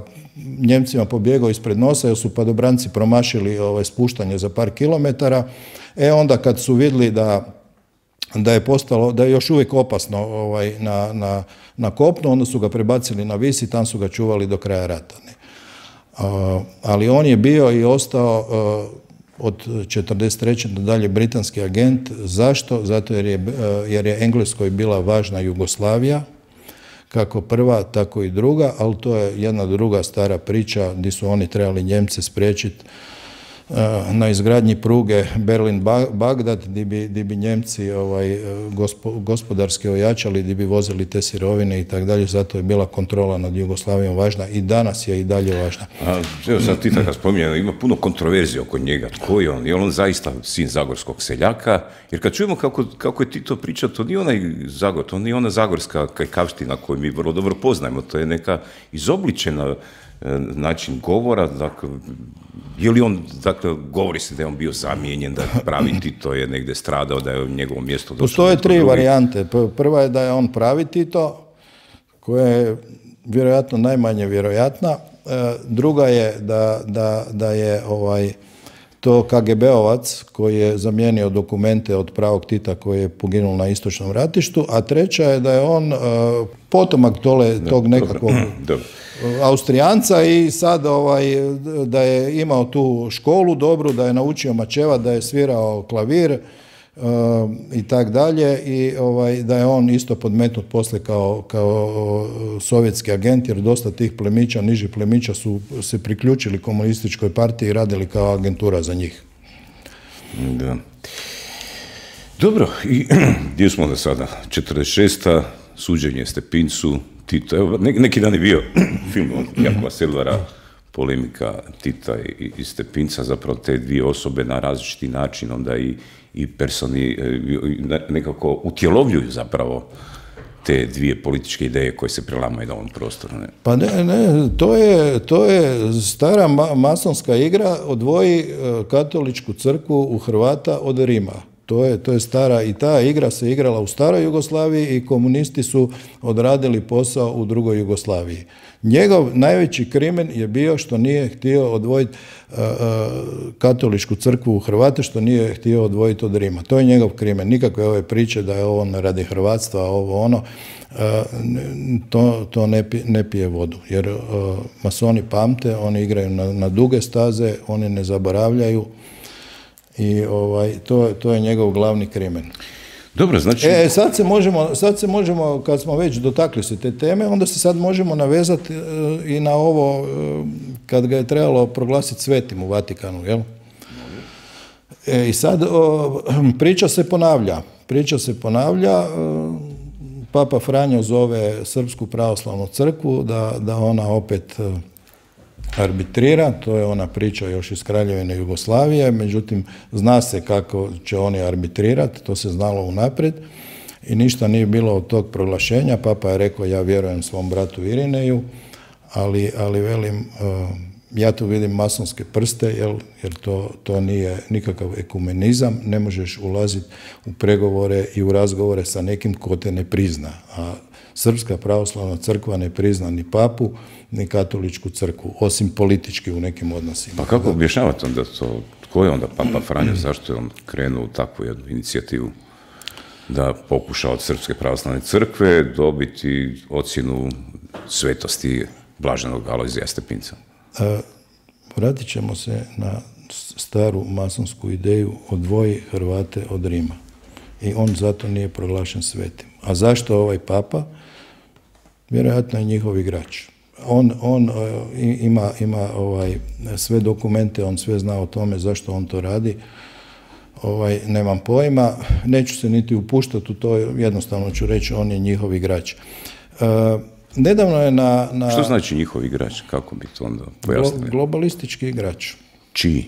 Njemcima pobjegao ispred nosa, jer su padobranci promašili ovaj, spuštanje za par kilometara. E onda kad su vidjeli da, da je postalo, da je još uvijek opasno ovaj, na, na, na kopnu, onda su ga prebacili na Vis i tam su ga čuvali do kraja rata. Ne? Uh, ali on je bio i ostao uh, od četrdeset treće do dalje britanski agent. Zašto? Zato jer je, uh, jer je Engleskoj bila važna Jugoslavija, kako prva, tako i druga, ali to je jedna druga stara priča gdje su oni trebali Njemce spriječiti na izgradnji pruge Berlin-Bagdad, gdje bi, gdje bi Njemci ovaj, gospo, gospodarski ojačali, gdje bi vozili te sirovine i tako dalje, zato je bila kontrola nad Jugoslavijom važna i danas je i dalje važna. A, evo sad ti tako spominjeno, ima puno kontroverzije oko njega. Tko je on? Je on zaista sin zagorskog seljaka? Jer kad čujemo kako, kako je Tito pričao, to nije onaj Zagor, to nije ona zagorska kajkavština koju mi vrlo dobro poznajemo, to je neka izobličena način govora, dakle, je li on, dakle, govori se da je on bio zamijenjen, da pravi Tito je negdje stradao, da je u njegovom mjestu došlo. Postoje tri varijante. Prva je da je on pravi Tito, koja je vjerojatno najmanje vjerojatna. Druga je da, da, da je ovaj, to K G B-ovac koji je zamijenio dokumente od pravog Tita koji je poginuo na istočnom ratištu, a treća je da je on uh, potomak tole, tog nekakvog Austrijanca i sad ovaj, da je imao tu školu dobru, da je naučio mačevat, da je svirao klavir uh, i tak dalje, i ovaj, da je on isto podmetnut poslije kao, kao sovjetski agent, jer dosta tih plemića, nižih plemića su se priključili komunističkoj partiji i radili kao agentura za njih. Da. Dobro, i gdje smo da sada? četrdeset šesta suđenje Stepincu, Tito, evo, neki dan je bio film od Jakova Selvara, polemika Tita i, i Stepinca, zapravo te dvije osobe na različiti način onda i, i personi nekako utjelovljuju zapravo te dvije političke ideje koje se prelamaju na ovom prostoru. Ne? Pa ne, ne, to je, to je stara ma masonska igra, odvoji katoličku crkvu u Hrvata od Rima. To je, to je stara, i ta igra se igrala u staroj Jugoslaviji i komunisti su odradili posao u drugoj Jugoslaviji. Njegov najveći krimen je bio što nije htio odvojiti uh, katoličku crkvu u Hrvate, što nije htio odvojiti od Rima. To je njegov krimen. Nikakve ove priče da je ovo radi hrvatstva, ovo ono, uh, to, to ne, pije, ne pije vodu. Jer uh, masoni pamte, oni igraju na, na duge staze, oni ne zaboravljaju. I ovaj, to, to je njegov glavni krimen. Dobro, znači... E, sad se možemo, sad se možemo, kad smo već dotakli se te teme, onda se sad možemo navezati e, i na ovo, e, kad ga je trebalo proglasiti svetim u Vatikanu, jel? E, I sad o, priča se ponavlja. Priča se ponavlja, e, Papa Franjo zove Srpsku pravoslavnu crkvu da, da ona opet e, arbitrira, to je ona priča još iz Kraljevine Jugoslavije, međutim zna se kako će oni arbitrirati, to se znalo unaprijed i ništa nije bilo od tog proglašenja. Papa je rekao ja vjerujem svom bratu Irineju, ali, ali velim, uh, ja tu vidim masonske prste, jel, jer to, to nije nikakav ekumenizam, ne možeš ulaziti u pregovore i u razgovore sa nekim ko te ne prizna, a Srpska pravoslavna crkva ne prizna ni papu, ni katoličku crkvu, osim politički u nekim odnosima. Pa kako objašnjavate onda to? Tko je onda Papa Franjo? Zašto je on krenuo u takvu jednu inicijativu da pokuša od Srpske pravoslavne crkve dobiti ocjenu svetosti blaženog Alojzija Stepinca? A, vratit ćemo se na staru masonsku ideju odvoji Hrvate od Rima. I on zato nije proglašen svetim. A zašto ovaj papa? Vjerojatno je njihov igrač. On, on uh, ima, ima ovaj, sve dokumente, on sve zna o tome zašto on to radi. Ovaj, nemam pojma, neću se niti upuštati u to, jednostavno ću reći, on je njihov igrač. Uh, nedavno je na, na... Što znači njihov igrač? Kako bi to onda pojasnili? Globalistički igrač. Čiji?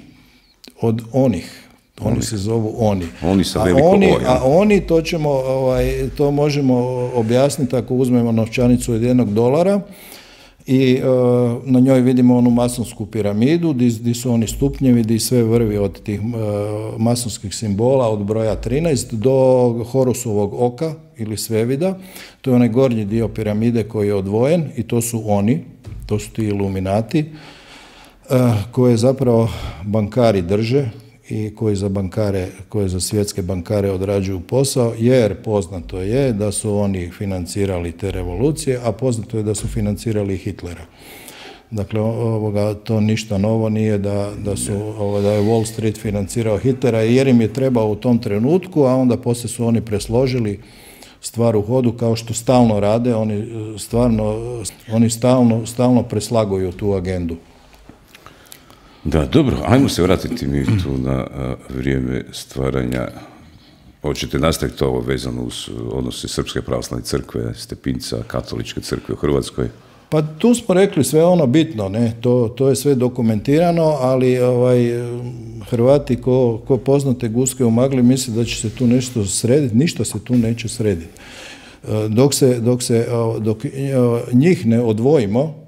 Od onih. Oni, oni se zovu oni. Oni sa a veliko oni, O, a oni, to ćemo, ovaj, to možemo objasniti ako uzmemo novčanicu od jednog dolara i uh, na njoj vidimo onu masonsku piramidu gdje su oni stupnjevi, gdje sve vrvi od tih uh, masonskih simbola od broja trinaest do Horusovog oka ili svevida. To je onaj gornji dio piramide koji je odvojen i to su oni, to su ti iluminati uh, koje zapravo bankari drže i koji za bankare, koji za svjetske bankare odrađuju posao, jer poznato je da su oni financirali te revolucije, a poznato je da su financirali Hitlera. Dakle, ovoga, to ništa novo nije da, da, su, ovo, da je Wall Street financirao Hitlera jer im je trebao u tom trenutku, a onda poslije su oni presložili stvar u hodu kao što stalno rade, oni stvarno, oni stalno, stalno preslaguju tu agendu. Da, dobro, ajmo se vratiti mi tu na a, vrijeme stvaranja. Hoćete nastaviti ovo vezano uz odnose Srpske pravoslavne crkve, Stepinca, katoličke crkve u Hrvatskoj? Pa tu smo rekli sve ono bitno, ne? To, to je sve dokumentirano, ali ovaj, Hrvati ko, ko poznate guske u magli misle da će se tu nešto srediti, ništa se tu neće srediti. Dok se, dok se dok njih ne odvojimo,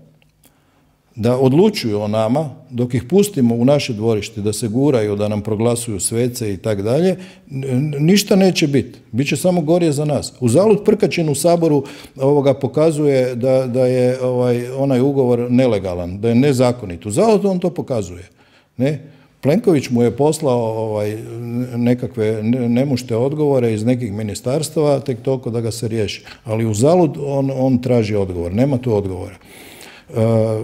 da odlučuju o nama, dok ih pustimo u naše dvorište, da se guraju, da nam proglasuju svece i tak dalje, ništa neće biti. Biće samo gorje za nas. Uzalud Prkačin u Saboru ovoga pokazuje da, da je ovaj, onaj ugovor nelegalan, da je nezakonit. Uzalud on to pokazuje. Ne? Plenković mu je poslao ovaj, nekakve nemušte odgovore iz nekih ministarstava, tek toliko da ga se riješi. Ali uzalud on, on traži odgovor. Nema tu odgovora. Uh,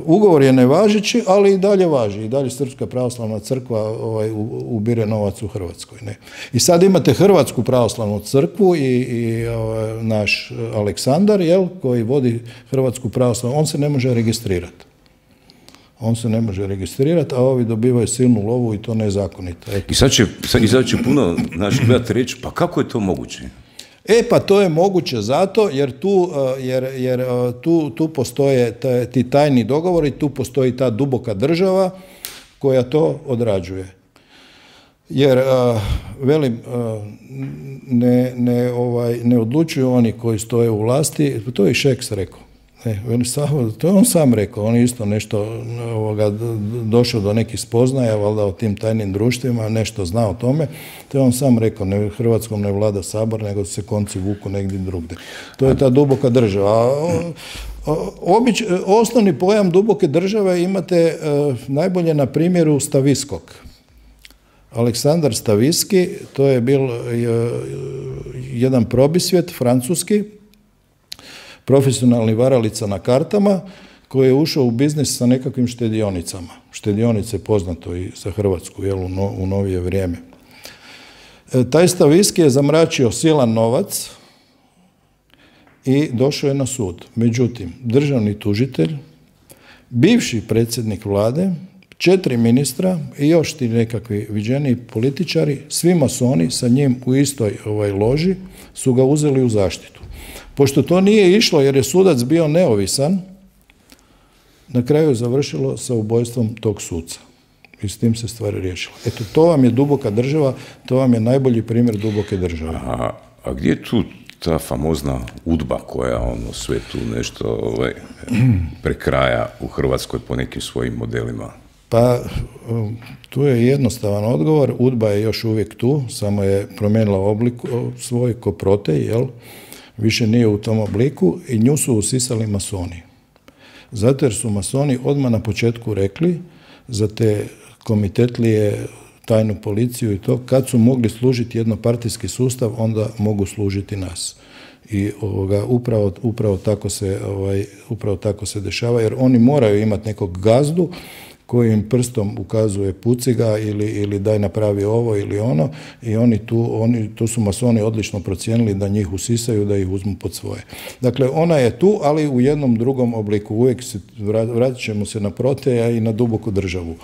ugovor je nevažeći, ali i dalje važi. I dalje Srpska pravoslavna crkva ovaj, ubire novac u Hrvatskoj. Ne? I sad imate Hrvatsku pravoslavnu crkvu i, i ovaj, naš Aleksandar, jel, koji vodi Hrvatsku pravoslavnu, on se ne može registrirati. On se ne može registrirati, a ovi dobivaju silnu lovu i to nezakonito. Eto. I sad će, i sad će puno naših gledati reći, pa kako je to moguće? E pa to je moguće zato jer tu, jer, jer tu, tu postoje taj, ti tajni dogovori, tu postoji ta duboka država koja to odrađuje. Jer, velim, ne, ne, ovaj, ne odlučuju oni koji stoje u vlasti, to je i Šeks rekao. Ne, to je on sam rekao, on je isto nešto ovoga, došao do nekih spoznaja, valjda o tim tajnim društvima, nešto zna o tome, to je on sam rekao, ne, Hrvatskom ne vlada Sabor, nego se konci vuku negdje drugdje. To je ta duboka država. A, obič, osnovni pojam duboke države imate uh, najbolje na primjeru Staviskog. Aleksandar Staviski, to je bil uh, jedan probisvjet francuski, profesionalni varalica na kartama, koji je ušao u biznis sa nekakvim štedionicama. Štedionice poznato i za Hrvatsku, jel, u, no, u novije vrijeme. E, taj Staviski je zamračio silan novac i došao je na sud. Međutim, državni tužitelj, bivši predsjednik vlade, četiri ministra i još ti nekakvi viđeni političari, svi masoni sa njim u istoj ovaj, loži, su ga uzeli u zaštitu. Pošto to nije išlo jer je sudac bio neovisan, na kraju je završilo sa ubojstvom tog suca. I s tim se stvari riješilo. Eto, to vam je duboka država, to vam je najbolji primjer duboke države. A, a gdje je tu ta famozna udba koja ono sve tu nešto ovaj, prekraja u Hrvatskoj po nekim svojim modelima? Pa, tu je jednostavan odgovor. Udba je još uvijek tu, samo je promijenila oblik svoj ko Protej, jel? Više nije u tom obliku i nju su usisali masoni. Zato jer su masoni odmah na početku rekli za te komitetlije, tajnu policiju i to, kad su mogli služiti jednopartijski sustav, onda mogu služiti nas. I ovoga, upravo, upravo, tako se, ovaj, upravo tako se dešava, jer oni moraju imati nekog gazdu koji im prstom ukazuje puci ga ili, ili daj napravi ovo ili ono i oni tu, oni, tu su masoni odlično procijenili da njih usisaju, da ih uzmu pod svoje. Dakle, ona je tu, ali u jednom drugom obliku. Uvijek se, vratit ćemo se na Proteja i na duboku državu.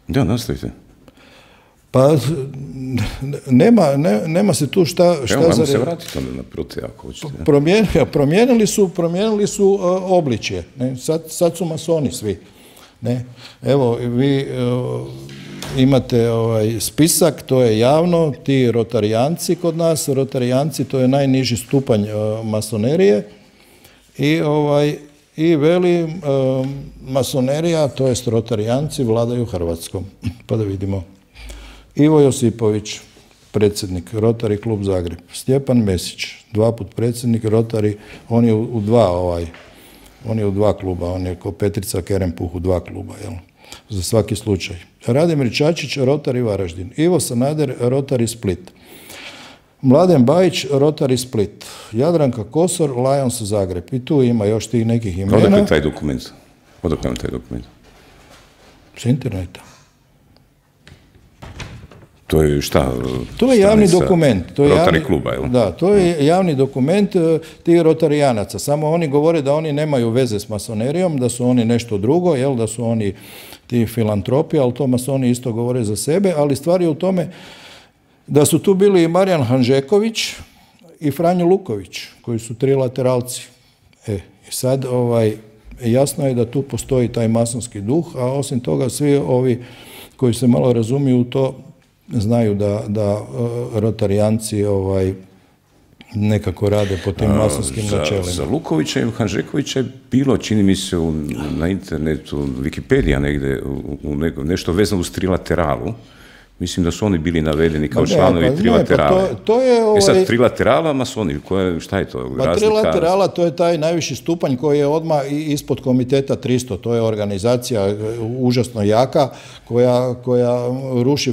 Da, nastavite. Pa, nema, ne, nema se tu šta... šta Evo, za... se vratiti onda na Proteja, ako hoćete. Promijenili, promijenili su, promijenili su uh, obličje. Ne? Sad, sad su masoni svi. Ne? Evo, vi uh, imate ovaj spisak, to je javno, ti rotarijanci kod nas, rotarijanci, to je najniži stupanj uh, masonerije i ovaj i veli uh, masonerija, to jest rotarijanci, vladaju Hrvatskom. Pa da vidimo. Ivo Josipović, predsjednik, Rotary klub Zagreb. Stjepan Mesić, dva put predsjednik, Rotary, on je u, u dva ovaj, on je u dva kluba, on je ko Petrica Kerempuh u dva kluba, jel? Za svaki slučaj. Radimir Čačić, Rotary Varaždin. Ivo Sanader, Rotary Split. Mladen Bajić, Rotary Split. Jadranka Kosor, Lions Zagreb. I tu ima još tih nekih imena. Odakle taj dokument? Odakle taj dokument? S interneta. To je šta? To je javni dokument. To je Rotary javni, kluba, jel? Da, to je javni dokument tih rotarijanaca. Samo oni govore da oni nemaju veze s masonerijom, da su oni nešto drugo, jel, da su oni ti filantropi, ali to masoni isto govore za sebe, ali stvar je u tome da su tu bili i Marijan Hanžeković i Franjo Luković, koji su trilateralci. E, i sad ovaj, jasno je da tu postoji taj masonski duh, a osim toga svi ovi koji se malo razumiju u to znaju da, da uh, rotarijanci ovaj, nekako rade po tim masonskim za, načelima. Za Lukovića i Hanžekovića je bilo, čini mi se, u, na internetu, Wikipedija negdje, u, u ne, nešto vezano uz trilateralu. Mislim da su oni bili navedeni kao ne, članovi pa, trilaterale. Ne, pa to, to je, ovaj... E sad, trilaterala, masoni, koje, šta je to? Pa trilaterala, to je taj najviši stupanj koji je odmah ispod komiteta tristo. To je organizacija užasno jaka koja, koja ruši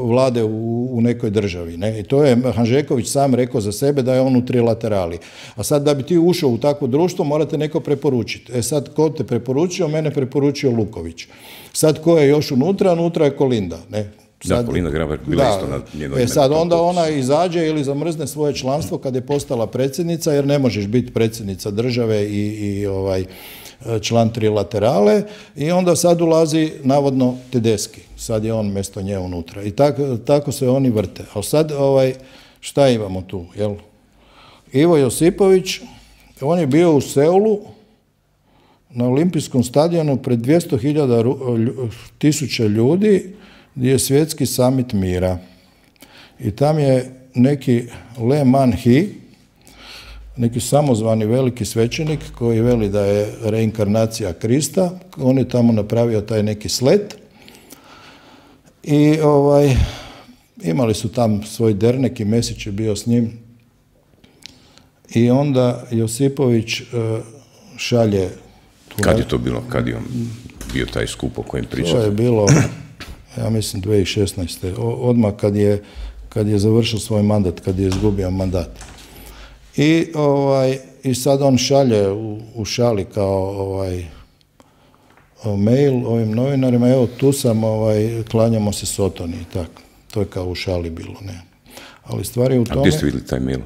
vlade u, u nekoj državi. Ne? I to je Hanžeković sam rekao za sebe da je on u trilaterali. A sad da bi ti ušao u takvo društvo morate neko preporučiti. E sad, ko te preporučio? Mene preporučio Luković. Sad ko je još unutra? Unutra je Kolinda. Ne? Sad, da, Kolinda Grabar bila isto na njeno ime. E sad onda ona izađe ili zamrzne svoje članstvo kad je postala predsjednica, jer ne možeš biti predsjednica države i, i ovaj, član trilaterale, i onda sad ulazi navodno Tedeschi. Sad je on mjesto nje unutra. I tako, tako se oni vrte. Ali sad ovaj, šta imamo tu? Jel? Ivo Josipović, on je bio u Seulu na olimpijskom stadionu pred dvjesto hiljada tisuća ljudi, gdje je svjetski samit mira. I tam je neki Le Man Hi neki samozvani veliki svećenik koji veli da je reinkarnacija Krista. On je tamo napravio taj neki slet i ovaj, imali su tam svoj dernek i Mesić je bio s njim. I onda Josipović uh, šalje... Kad je to bilo? Kad je on bio taj skup o kojem pričate? To je bilo, ja mislim, dvije tisuće šesnaeste. Odmah kad je, kad je završio svoj mandat, kad je izgubio mandat. I, ovaj, i sad on šalje u, u šali kao ovaj, mail ovim novinarima, evo tu sam, ovaj, klanjamo se Sotoni i tako. To je kao u šali bilo, ne. Ali stvari u tome... A gdje ste vidjeli taj mail?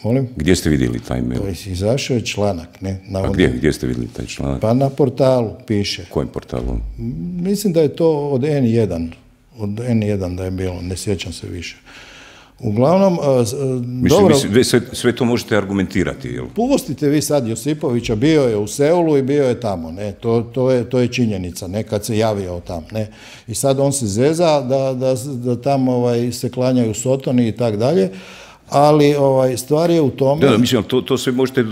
Molim? Gdje ste vidjeli taj mail? To izašao je članak, ne? Na A gdje, gdje ste vidjeli taj članak? Pa na portalu piše. Kojem portalu? Mislim da je to od en jedan. Od en jedan da je bilo, ne sjećam se više. Uglavnom, Mislim, dobro... Vi sve, sve to možete argumentirati, jel? Pustite vi sad Josipovića, bio je u Seulu i bio je tamo, ne? To, to, je, to je činjenica, ne? Kad se javio tamo, ne? I sad on se zeza da, da, da tamo ovaj, se klanjaju Sotoni i tak dalje. Ali ovaj, stvar je u tome... Da, da, mislim, to, to sve možete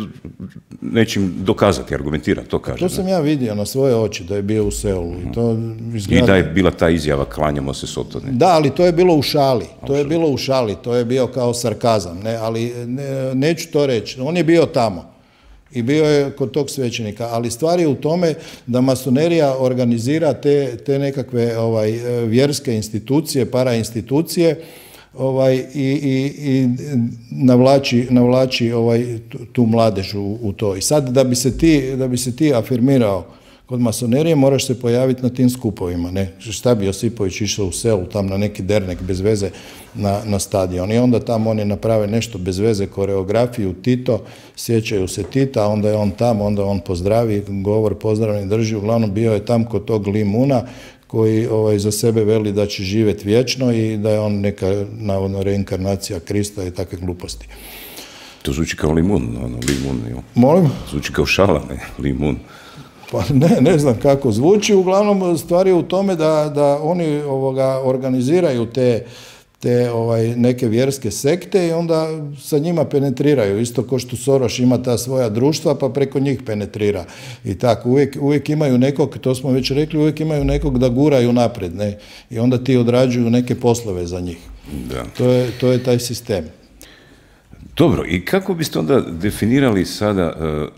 nečim dokazati, argumentirati, to kaže. To sam ja vidio na svoje oči, da je bio u Seulu. I, to izgleda... I da je bila ta izjava, klanjamo se Sotone. Da, ali to je bilo u šali. To je bilo u šali, to je bio kao sarkazam. Ne? Ali ne, neću to reći. On je bio tamo. I bio je kod tog svećenika. Ali stvar je u tome da masonerija organizira te, te nekakve ovaj, vjerske institucije, parainstitucije, ovaj, i, i, i navlači, navlači ovaj, tu, tu mladež u, u to. I sad da bi se ti, da bi se ti afirmirao kod masonerije, moraš se pojaviti na tim skupovima. Ne? Šta bi Josipović išao u Selu, tam na neki dernek bez veze na, na stadion. I onda tamo oni naprave nešto bez veze, koreografiju, Tito, sjećaju se Tita, onda je on tamo, onda on pozdravi, govor pozdravni drži, uglavnom bio je tam kod tog Limuna, koji ovaj, za sebe veli da će živjeti vječno i da je on neka, navodno, reinkarnacija Krista i takve gluposti. To zvuči kao limun, ono, limun, jo. Molim? Zvuči kao šala, ne, limun. Pa ne, ne znam kako zvuči, uglavnom stvar je u tome da, da oni ovoga, organiziraju te, te ovaj, neke vjerske sekte i onda sa njima penetriraju, isto kao što Soros ima ta svoja društva, pa preko njih penetrira. I tako, uvijek, uvijek imaju nekog, to smo već rekli, uvijek imaju nekog da guraju naprijed, ne? I onda ti odrađuju neke poslove za njih. Da. To je, to je taj sistem. Dobro, i kako biste onda definirali sada uh,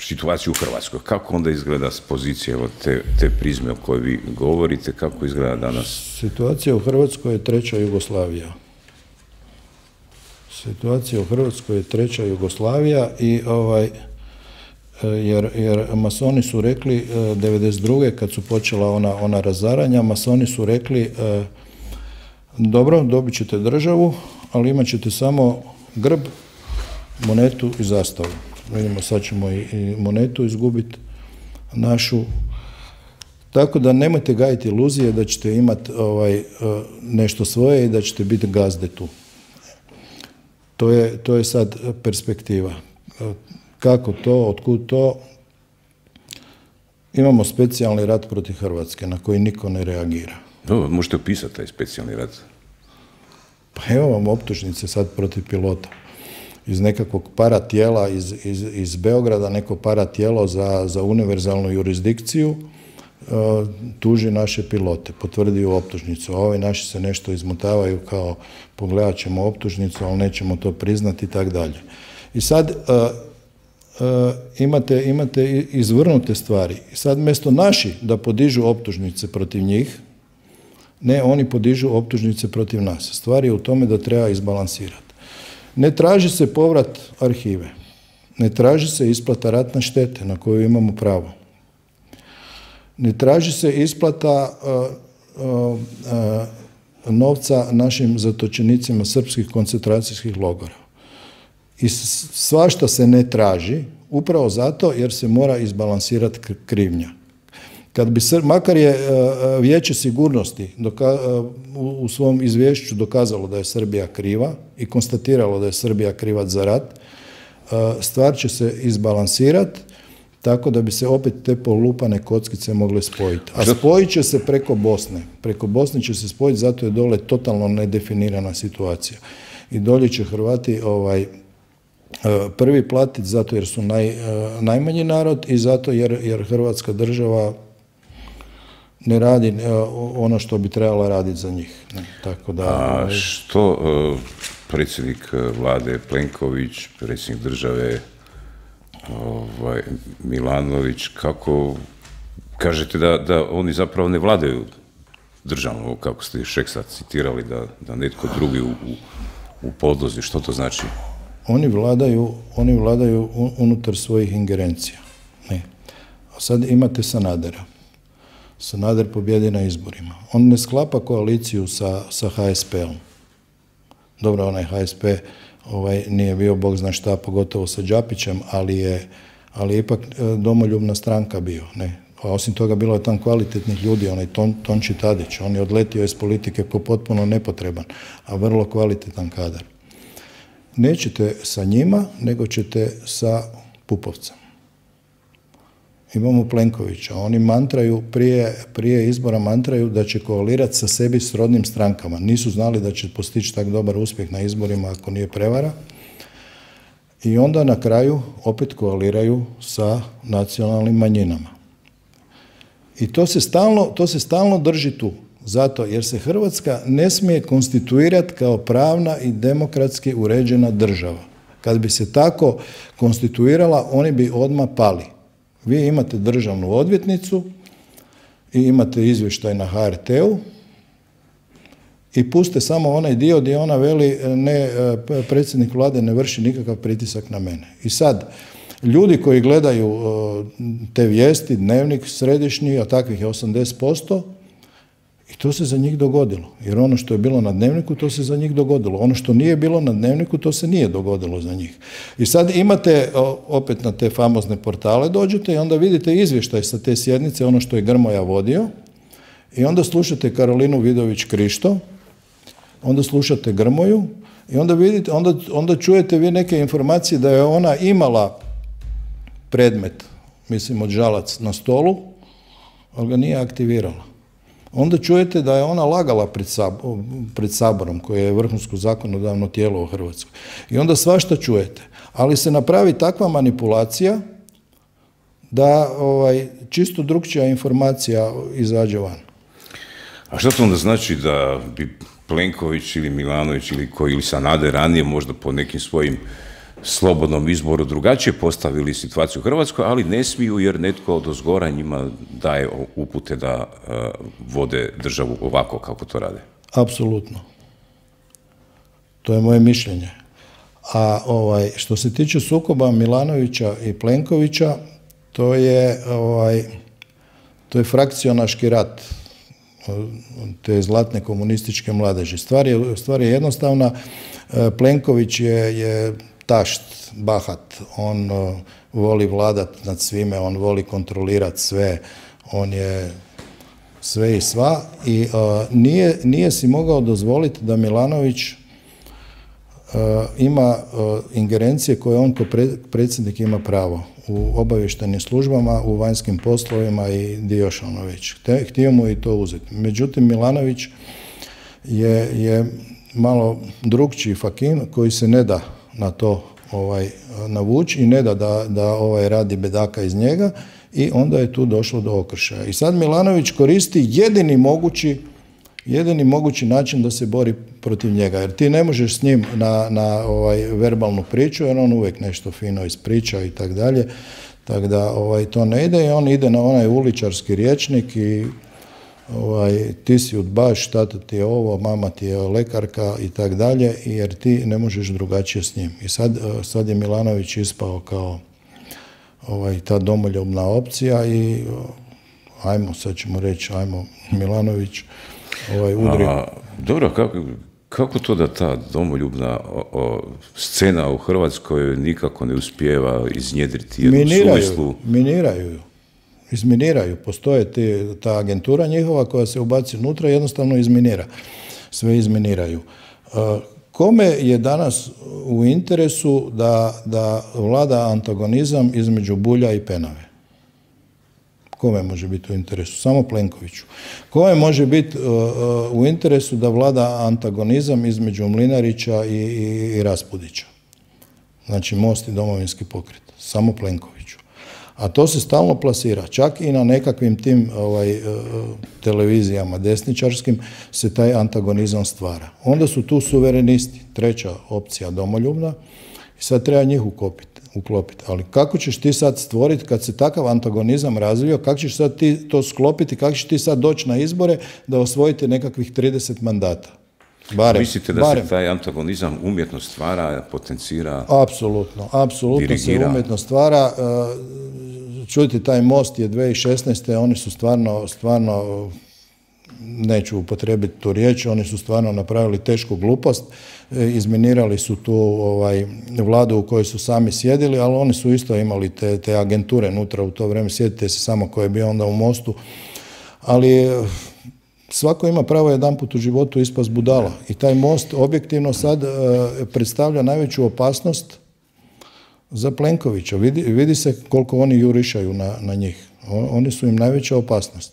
situaciju u Hrvatskoj? Kako onda izgleda s pozicije od te, te prizme o kojoj vi govorite? Kako izgleda danas? Situacija u Hrvatskoj je treća Jugoslavija. Situacija u Hrvatskoj je treća Jugoslavija i ovaj, jer, jer masoni su rekli devedeset druge kad su počela ona, ona razaranja, masoni su rekli dobro, dobit ćete državu, ali imat ćete samo grb, monetu i zastavu. Vidimo, sad ćemo i, i monetu izgubiti našu. Tako da nemojte gajiti iluzije da ćete imati ovaj, nešto svoje i da ćete biti gazde tu. To je, to je sad perspektiva. Kako to, otkud to? Imamo specijalni rat protiv Hrvatske na koji niko ne reagira. Dobro, možete opisati taj specijalni rat? Pa evo vam optužnice sad protiv pilota. Iz nekakvog paratijela iz, iz, iz Beograda, neko paratijelo za, za univerzalnu jurisdikciju uh, tuži naše pilote, potvrdio optužnicu, a ovi naši se nešto izmotavaju kao pogledat ćemo optužnicu, ali nećemo to priznati i tako dalje. I sad uh, uh, imate, imate izvrnute stvari. I sad mjesto naši da podižu optužnice protiv njih, ne, oni podižu optužnice protiv nas. Stvar je u tome da treba izbalansirati. Ne traži se povrat arhive, ne traži se isplata ratne štete na koju imamo pravo. Ne traži se isplata uh, uh, uh, novca našim zatočenicima srpskih koncentracijskih logora. I svašta se ne traži, upravo zato jer se mora izbalansirati krivnja. Kad bi, makar je uh, Vijeće sigurnosti doka, uh, u, u svom izvješću dokazalo da je Srbija kriva i konstatiralo da je Srbija krivac za rat, uh, stvar će se izbalansirati tako da bi se opet te polupane kockice mogle spojiti. A spojit će se preko Bosne. Preko Bosne će se spojiti, zato je dole totalno nedefinirana situacija. I dolje će Hrvati ovaj, prvi platiti zato jer su naj, najmanji narod i zato jer, jer Hrvatska država ne radi ono što bi trebala raditi za njih. Ne, tako da, a što uh, predsjednik vlade Plenković, predsjednik države ovaj, Milanović, kako kažete da, da oni zapravo ne vladaju državom, kako ste Šeksa citirali, da, da netko drugi u, u, u podlozi, što to znači? Oni vladaju, oni vladaju unutar svojih ingerencija. Ne. A sad imate Sanadera. Sanader pobjedi na izborima. On ne sklapa koaliciju sa, sa ha es pe om. Dobro, onaj ha es pe ovaj, nije bio bog zna šta, pogotovo sa Đapićem, ali je, ali je ipak domoljubna stranka bio. Ne. A osim toga bilo je tam kvalitetnih ljudi, onaj Ton, Tonči Tadić, on je odletio iz politike ko potpuno nepotreban, a vrlo kvalitetan kadar. Nećete sa njima, nego ćete sa Pupovcem. Imamo Plenkovića. Oni mantraju, prije, prije izbora mantraju da će koalirati sa sebi srodnim strankama. Nisu znali da će postići tak dobar uspjeh na izborima ako nije prevara. I onda na kraju opet koaliraju sa nacionalnim manjinama. I to se stalno, to se stalno drži tu. Zato jer se Hrvatska ne smije konstituirati kao pravna i demokratski uređena država. Kad bi se tako konstituirala, oni bi odmah pali. Vi imate državnu odvjetnicu i imate izvještaj na ha er te u i puste samo onaj dio gdje ona veli ne, predsjednik vlade ne vrši nikakav pritisak na mene. I sad, ljudi koji gledaju te vijesti, dnevnik središnji, a takvih je osamdeset posto, i to se za njih dogodilo. Jer ono što je bilo na dnevniku, to se za njih dogodilo. Ono što nije bilo na dnevniku, to se nije dogodilo za njih. I sad imate, opet na te famozne portale dođete i onda vidite izvještaj sa te sjednice, ono što je Grmoja vodio, i onda slušate Karolinu Vidović Krišto, onda slušate Grmoju i onda vidite, onda, onda čujete vi neke informacije da je ona imala predmet, mislim od Žalac, na stolu, ali ga nije aktivirala. Onda čujete da je ona lagala pred, sabor, pred Saborom, koje je vrhunsko zakonodavno tijelo u Hrvatskoj. I onda svašta čujete. Ali se napravi takva manipulacija da ovaj, čisto drukčija informacija izađe van. A što to onda znači da bi Plenković ili Milanović ili koji ili Sanader ranije možda po nekim svojim slobodnom izboru drugačije postavili situaciju u Hrvatskoj, ali ne smiju jer netko od ozgora njima daje upute da uh, vode državu ovako kako to rade? Apsolutno. To je moje mišljenje. A ovaj, što se tiče sukoba Milanovića i Plenkovića, to je, ovaj, to je frakcionaški rat te zlatne komunističke mladeži. Stvar je, stvar je jednostavna. Plenković je, je tašt, bahat, on uh, voli vladat nad svime, on voli kontrolirati sve, on je sve i sva i uh, nije, nije si mogao dozvoliti da Milanović uh, ima uh, ingerencije koje on kao pre, predsjednik ima pravo u obavještajnim službama, u vanjskim poslovima i di još ono već. Htio mu i to uzeti. Međutim, Milanović je, je malo drukčiji fakin koji se ne da na to ovaj, navući i ne da da, da ovaj, radi bedaka iz njega i onda je tu došlo do okršaja. I sad Milanović koristi jedini mogući, jedini mogući način da se bori protiv njega, jer ti ne možeš s njim na, na ovaj, verbalnu priču, jer on uvijek nešto fino ispriča i tak dalje, tako da ovaj, to ne ide i on ide na onaj uličarski rječnik i ovaj, ti si udbaš, tata ti je ovo, mama ti je lekarka i tak dalje, jer ti ne možeš drugačije s njim. I sad, sad je Milanović ispao kao ovaj, ta domoljubna opcija i ajmo, sad ćemo reći, ajmo Milanović ovaj, udri. A, dobro, kako, kako to da ta domoljubna o, o, scena u Hrvatskoj nikako ne uspijeva iznjedriti jednu miniraju, suvislu? Miniraju ju. Izminiraju. Postoje te, ta agentura njihova koja se ubaci unutra i jednostavno izminira. Sve izminiraju. Kome je danas u interesu da, da vlada antagonizam između Bulja i Penave? Kome može biti u interesu? Samo Plenkoviću. Kome može biti uh, u interesu da vlada antagonizam između Mlinarića i, i, i Raspudića? Znači Most i Domovinski pokret, samo Plenkoviću. A to se stalno plasira, čak i na nekakvim tim ovaj, televizijama desničarskim se taj antagonizam stvara. Onda su tu suverenisti, treća opcija domoljubna, i sad treba njih ukopiti, uklopiti. Ali kako ćeš ti sad stvoriti, kad se takav antagonizam razvio, kako ćeš sad ti to sklopiti, kako ćeš ti sad doći na izbore da osvojite nekakvih trideset mandata? Barem, Mislite da barem. se taj antagonizam umjetno stvara, potencira, apsolutno, apsolutno dirigira. se umjetno stvara. Čujte, taj Most je dvije tisuće šesnaeste. Oni su stvarno, stvarno, neću upotrijebiti tu riječ, oni su stvarno napravili tešku glupost. Izminirali su tu ovaj, vladu u kojoj su sami sjedili, ali oni su isto imali te, te agenture unutra u to vrijeme. Sjetite se samo ko je bio onda u Mostu. Ali svako ima pravo jedanput u životu ispast budala. I taj Most objektivno sad uh, predstavlja najveću opasnost za Plenkovića. Vidi, vidi se koliko oni jurišaju na, na njih. O, oni su im najveća opasnost.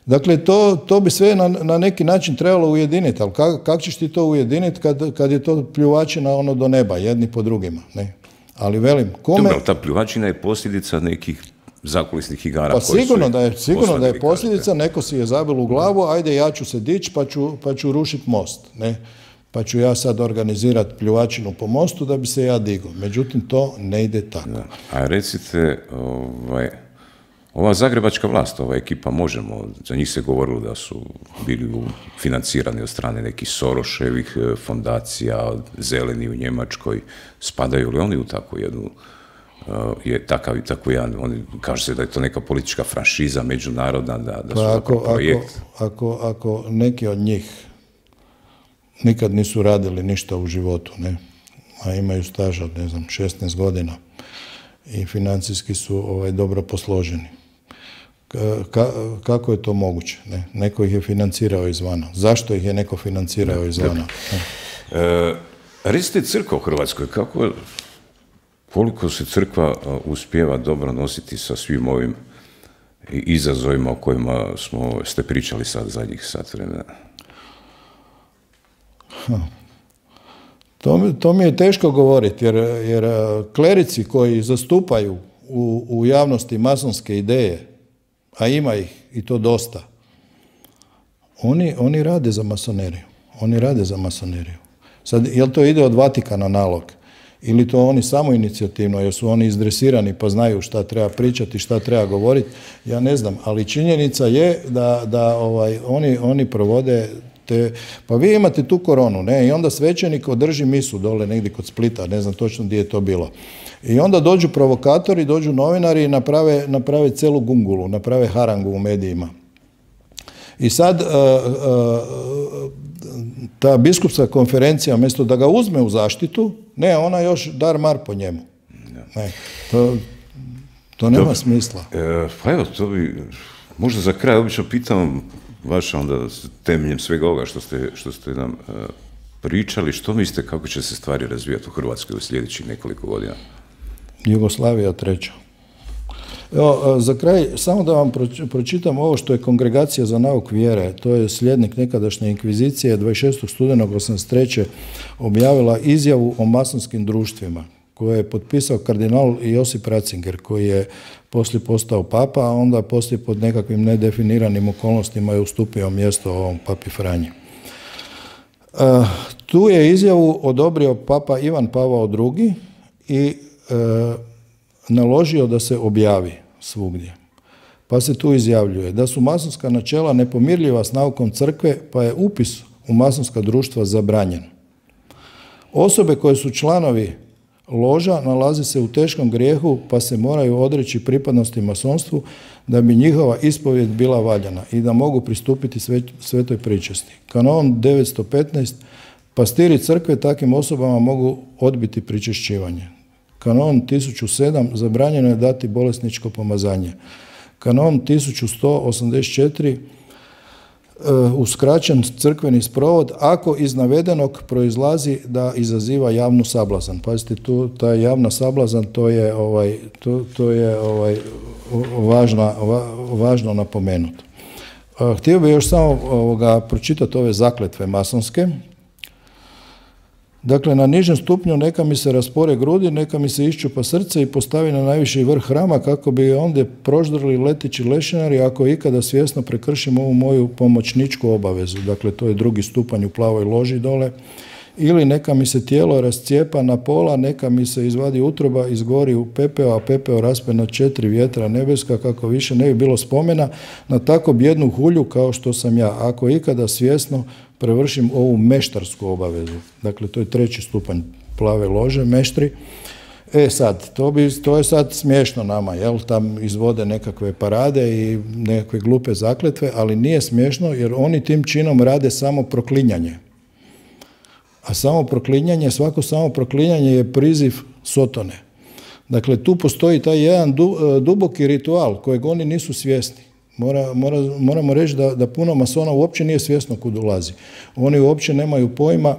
Dakle, to, to bi sve na, na neki način trebalo ujediniti, ali kako kak ćeš ti to ujediniti kad, kad je to pljuvačina ono do neba, jedni po drugima, ne? Ali velim, kome... Dobro, ta pljuvačina je posljedica nekih zakulisnih igara. Pa sigurno da je, sigurno da je posljedica, neko si je zabil u glavu, ajde ja ću se dići pa ću, pa ću rušiti most, ne? Pa ću ja sad organizirati pljuvačinu po mostu da bi se ja digao. Međutim, to ne ide tako. Da. A recite, ovaj, ova zagrebačka vlast, ova ekipa Možemo, za njih se govorilo da su bili financirani od strane nekih Soroševih fondacija, Zeleni u Njemačkoj. Spadaju li oni u takvu jednu, uh, je takav i tako jedan, oni kaže se da je to neka politička franšiza međunarodna, da, da su pa ako, projekt. Ako, ako, ako neki od njih nikad nisu radili ništa u životu, ne, a imaju staža, ne znam, šesnaest godina i financijski su ovaj, dobro posloženi. Ka, kako je to moguće? Ne? Neko ih je financirao izvana. Zašto ih je neko financirao izvana? E, recite, crkva u Hrvatskoj, kako, koliko se crkva uspijeva dobro nositi sa svim ovim izazovima o kojima smo, ste pričali sad zadnjih sat vremena? To mi, to mi je teško govoriti, jer, jer klerici koji zastupaju u, u javnosti masonske ideje, a ima ih i to dosta, oni, oni rade za masoneriju. Oni rade za masoneriju. Sad, jel to ide od Vatikana nalog? Ili to oni samo inicijativno, jer su oni izdresirani pa znaju šta treba pričati, šta treba govoriti? Ja ne znam, ali činjenica je da, da ovaj, oni, oni provode te... Pa vi imate tu koronu, ne? I onda svećenik održi misu dole negdje kod Splita, ne znam točno gdje je to bilo. I onda dođu provokatori, dođu novinari i naprave, naprave celu gungulu, naprave harangu u medijima. I sad uh, uh, ta biskupska konferencija, umjesto da ga uzme u zaštitu, ne, ona još dar mar po njemu. Ne, to, to nema Dobre. smisla. E, pa evo, to bi, možda za kraj obično pitam vaš onda temeljem svega ovoga što ste, što ste nam uh, pričali, što mislite kako će se stvari razvijati u Hrvatskoj u sljedećih nekoliko godina? Jugoslavija treća. Evo, za kraj, samo da vam pročitam ovo što je Kongregacija za nauk vjere, to je slijednik nekadašnje inkvizicije, dvadeset šestog studenog osamdeset treće objavila izjavu o masonskim društvima, koje je potpisao kardinal Josip Ratzinger, koji je poslije postao papa, a onda poslije pod nekakvim nedefiniranim okolnostima je ustupio mjesto ovom papi Franji. Uh, tu je izjavu odobrio papa Ivan Pavao drugi i uh, naložio da se objavi svugdje. Pa se tu izjavljuje da su masonska načela nepomirljiva s naukom crkve, pa je upis u masonska društva zabranjen. Osobe koje su članovi loža nalaze se u teškom grijehu, pa se moraju odreći pripadnosti masonstvu da bi njihova ispovijed bila valjana i da mogu pristupiti svetoj pričesti. Kanon devetsto petnaest. Pastiri crkve takvim osobama mogu odbiti pričešćivanje. Kanon tisuću sedam. Zabranjeno je dati bolesničko pomazanje. Kanon tisuću sto osamdeset četiri. Uskraćen crkveni sprovod ako iz navedenog proizlazi da izaziva javnu sablazan. Pazite, tu ta javna sablazan, to je ovaj to, to je ovaj važna, va, važno napomenuti. Htio bih još samo ovoga pročitati ove zakletve masonske. Dakle, na nižem stupnju neka mi se raspore grudi, neka mi se iščupa srce i postavi na najviši vrh hrama kako bi ondje proždrli leteći lešinari ako ikada svjesno prekršim ovu moju pomoćničku obavezu. Dakle, to je drugi stupanj u plavoj loži dole. Ili neka mi se tijelo rascijepa na pola, neka mi se izvadi utroba, izgori u pepeo, a pepeo raspe na četiri vjetra nebeska kako više ne bi bilo spomena na tako bjednu hulju kao što sam ja. Ako ikada svjesno prevršim ovu meštarsku obavezu. Dakle, to je treći stupanj plave lože, meštri. E sad, to, bi, to je sad smiješno nama, jel? Tam izvode nekakve parade i nekakve glupe zakletve, ali nije smiješno jer oni tim činom rade samo proklinjanje. A samo proklinjanje, svako samo proklinjanje je priziv Sotone. Dakle, tu postoji taj jedan duboki ritual kojeg oni nisu svjesni. Mora, mora, moramo reći da, da puno masona uopće nije svjesno kud ulazi. Oni uopće nemaju pojma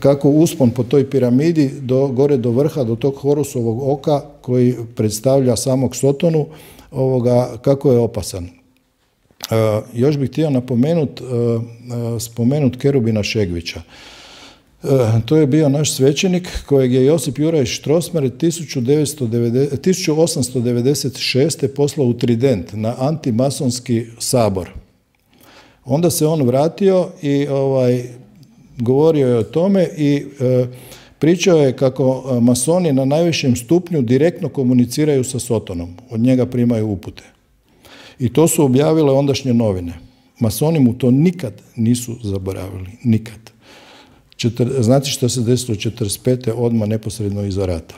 kako uspon po toj piramidi do, gore do vrha, do tog Horusovog oka koji predstavlja samog Sotonu, ovoga, kako je opasan. Uh, još bih htio napomenut, uh, uh, spomenut Kerubina Šegvića. To je bio naš svećenik kojeg je Josip Juraj Strossmayer tisuću osamsto devedeset šeste. poslao u Trident na antimasonski sabor. Onda se on vratio i ovaj, govorio je o tome i e, pričao je kako masoni na najvišem stupnju direktno komuniciraju sa Sotonom. Od njega primaju upute. I to su objavile ondašnje novine. Masoni mu to nikad nisu zaboravili. Nikad. Znate što se desilo četrdeset pete odmah neposredno iza rata?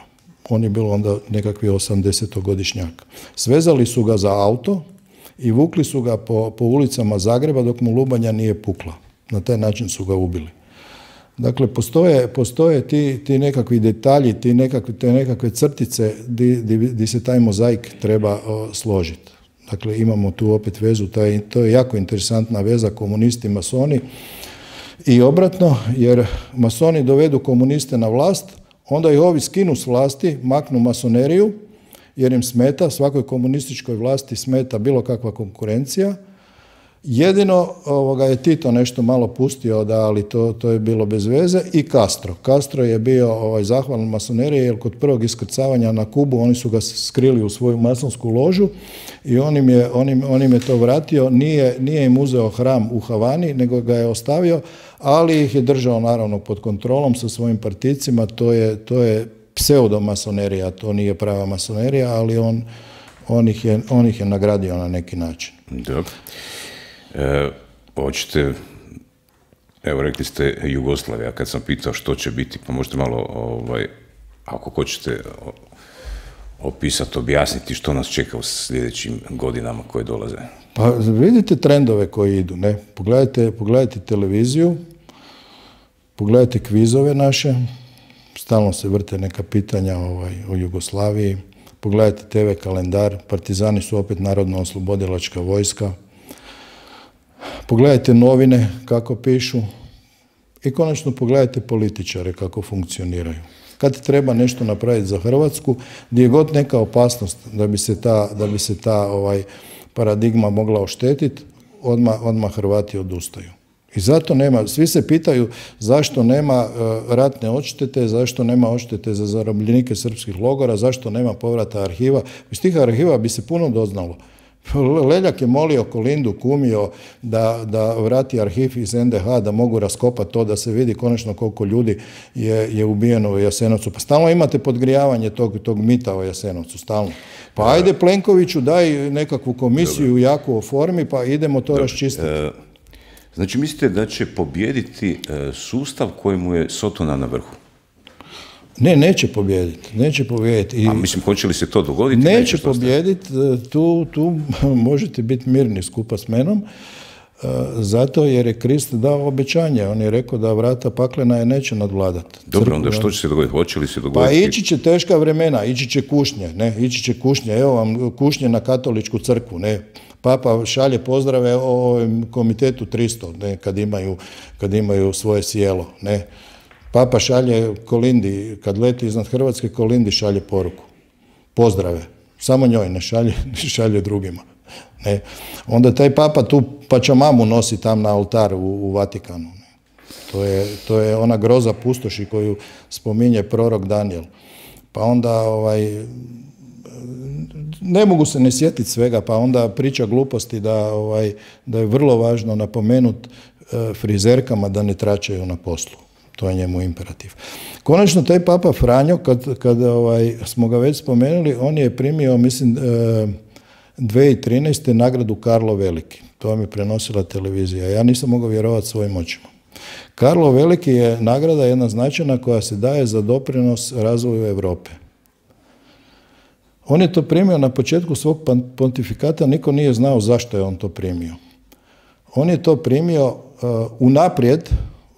On je bilo onda nekakvi osamdesetogodišnjak. Svezali su ga za auto i vukli su ga po, po ulicama Zagreba dok mu lubanja nije pukla. Na taj način su ga ubili. Dakle, postoje, postoje ti, ti nekakvi detalji, ti nekakve, te nekakve crtice di, di, di se taj mozaik treba o, složiti. Dakle, imamo tu opet vezu, taj, to je jako interesantna veza komunisti i masoni. I obratno, jer masoni dovedu komuniste na vlast, onda ih ovi skinu s vlasti, maknu masoneriju, jer im smeta, svakoj komunističkoj vlasti smeta bilo kakva konkurencija. Jedino ovoga, je Tito nešto malo pustio, da, ali to, to je bilo bez veze, i Castro. Castro je bio ovaj, zahvalan masonerije, jer kod prvog iskrcavanja na Kubu oni su ga skrili u svoju masonsku ložu i on im je, on im, on im je to vratio. Nije, nije im uzeo hram u Havani, nego ga je ostavio, ali ih je držao naravno pod kontrolom sa svojim partijcima. To je, to je pseudomasonerija, to nije prava masonerija, ali on, on, ih je, on ih je nagradio na neki način. Dobro. E, hoćete, evo rekli ste Jugoslavija, kad sam pitao što će biti, pa možete malo, ovaj, ako hoćete opisati, objasniti što nas čeka u sljedećim godinama koje dolaze. Pa vidite trendove koji idu, ne? Pogledajte, pogledajte televiziju, pogledajte kvizove naše, stalno se vrte neka pitanja ovaj, o Jugoslaviji, pogledajte te ve kalendar, partizani su opet narodno-oslobodilačka vojska, pogledajte novine kako pišu i konačno pogledajte političare kako funkcioniraju. Kad treba nešto napraviti za Hrvatsku, gdje je god neka opasnost da bi se ta, da bi se ta ovaj, paradigma mogla oštetiti, odmah, odmah Hrvati odustaju. I zato nema, svi se pitaju zašto nema uh, ratne odštete, zašto nema odštete za zarobljenike srpskih logora, zašto nema povrata arhiva. Iz tih arhiva bi se puno doznalo. Leljak je molio Kolindu, kumio da, da vrati arhiv iz en de ha, da mogu raskopati to, da se vidi konačno koliko ljudi je, je ubijeno u Jasenovcu. Pa stalno imate podgrijavanje tog, tog mita o Jasenovcu, stalno. Pa ajde Plenkoviću, daj nekakvu komisiju Dobre. jaku o formi, pa idemo to Dobre. raščistiti. E, znači, mislite da će pobijediti e, sustav kojemu je Sotona na vrhu? Ne, neće pobijediti, neće pobijediti. I a mislim, hoće li se to dogoditi? Neće, neće pobijediti, tu, tu možete biti mirni skupa s menom, zato jer je Krist dao obećanje. On je rekao da vrata paklena je neće nadvladati. Dobro, onda što će se dogoditi? Hoće li se dogoditi? Pa ići će teška vremena, ići će kušnje, ne, ići će kušnje, evo vam kušnje na katoličku crkvu, ne. Papa šalje pozdrave o komitetu tristo, ne, kad imaju, kad imaju svoje sjelo, ne. Papa šalje Kolindi, kad leti iznad Hrvatske, Kolindi šalje poruku. Pozdrave. Samo njoj, ne šalje, ne šalje drugima. Ne. Onda taj papa tu pačamamu nosi tam na oltar u, u Vatikanu. Ne. To je, to je ona groza pustoši koju spominje prorok Danijel. Pa onda ovaj, ne mogu se ne sjetiti svega, pa onda priča gluposti da, ovaj, da je vrlo važno napomenuti e, frizerkama da ne tračaju na poslu. To je njemu imperativ. Konačno, taj Papa Franjo, kad, kad ovaj, smo ga već spomenuli, on je primio, mislim, e, dvije tisuće trinaeste. nagradu Karlo Veliki. To vam je prenosila televizija. Ja nisam mogao vjerovati svojim očima. Karlo Veliki je nagrada jedna značajna koja se daje za doprinos razvoju Europe. On je to primio na početku svog pontifikata, niko nije znao zašto je on to primio. On je to primio uh, unaprijed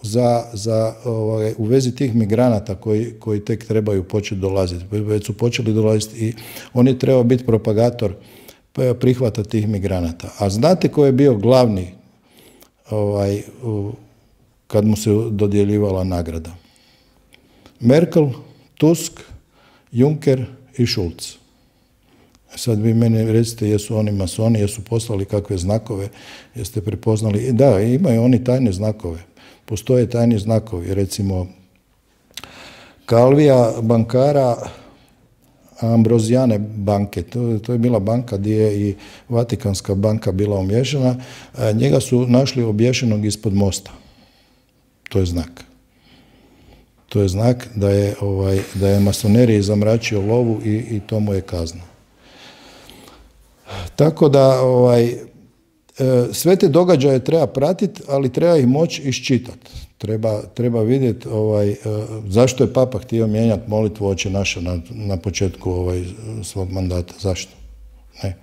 za, za, ovaj, u vezi tih migranata koji, koji tek trebaju početi dolaziti. Već su počeli dolaziti i on je trebao biti propagator prihvata tih migranata. A znate ko je bio glavni ovaj, u, kad mu se dodjeljivala nagrada? Merkel, Tusk, Juncker i Schulz. Sad vi meni recite jesu oni masoni, jesu poslali kakve znakove, jeste prepoznali. Da, imaju oni tajne znakove. Postoje tajni znakovi. Recimo, Calvija, bankara Ambrozijane banke. To, to je bila banka gdje je i Vatikanska banka bila umješana. Njega su našli obješenog ispod mosta. To je znak. To je znak da je, ovaj, da je masoneriji zamračio lovu i, i to mu je kazna. Tako da ovaj, sve te događaje treba pratiti, ali treba ih moći iščitati. Treba, treba vidjeti ovaj, zašto je Papa htio mijenjati molitvu Oče naše na, na početku ovaj, svog mandata. Zašto? Ne.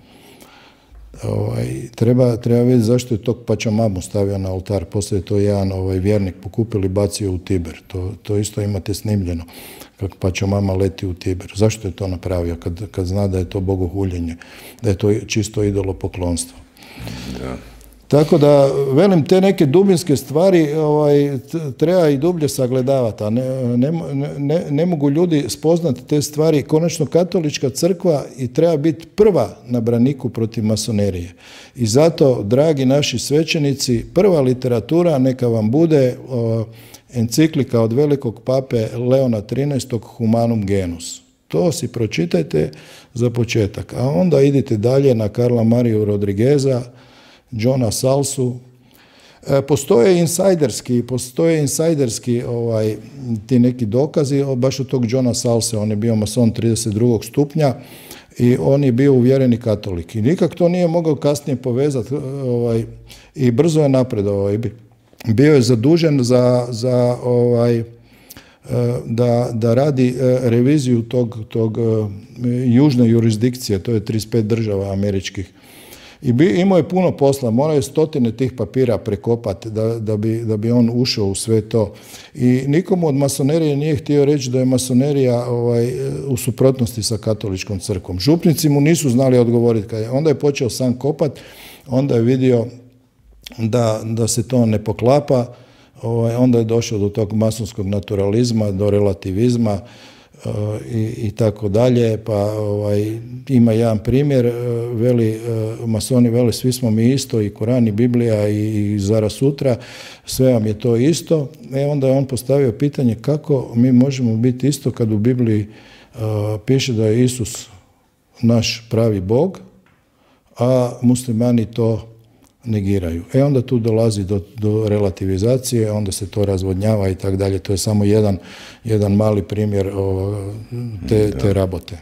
Ovaj, treba, treba vidjeti zašto je tog Pačamamu stavio na oltar. Poslije je to jedan ovaj, vjernik pokupili i bacio u Tiber. To, to isto imate snimljeno, kako Pačamama leti u Tiber. Zašto je to napravio kad, kad zna da je to bogohuljenje, da je to čisto idolopoklonstvo? Da. Tako da, velim, te neke dubinske stvari ovaj, treba i dublje sagledavati, a ne, ne, ne, ne mogu ljudi spoznati te stvari. Konačno, katolička crkva i treba biti prva na braniku protiv masonerije. I zato, dragi naši svećenici, prva literatura neka vam bude o, enciklika od velikog pape Leona trinaestog. Humanum Genus. To si pročitajte za početak, a onda idite dalje na Karla Mariju Rodrigueza, Johna Salsu. E, postoje insajderski, postoje insajderski ovaj, ti neki dokazi, baš od tog Johna Salse, on je bio mason trideset drugog stupnja i on je bio uvjereni katolik. I nikak to nije mogao kasnije povezati ovaj, i brzo je napredovao. Bio je zadužen za, za ovaj, da, da radi reviziju tog, tog južne jurisdikcije, to je trideset pet država američkih. I bi, imao je puno posla, morao je stotine tih papira prekopati da, da, bi, da bi on ušao u sve to. I nikomu od masonerije nije htio reći da je masonerija ovaj, u suprotnosti sa katoličkom crkvom. Župnici mu nisu znali odgovoriti. Onda je počeo sam kopati, onda je vidio da, da se to ne poklapa, ovaj, onda je došao do tog masonskog naturalizma, do relativizma, I, i tako dalje, pa ovaj, ima jedan primjer, veli, masoni veli svi smo mi isto, i Koran i Biblija i, i Zara sutra, sve vam je to isto. E onda je on postavio pitanje kako mi možemo biti isto kad u Bibliji uh, piše da je Isus naš pravi Bog, a muslimani to negiraju. E onda tu dolazi do, do relativizacije, onda se to razvodnjava i tako dalje. To je samo jedan, jedan mali primjer o, te, te rabote.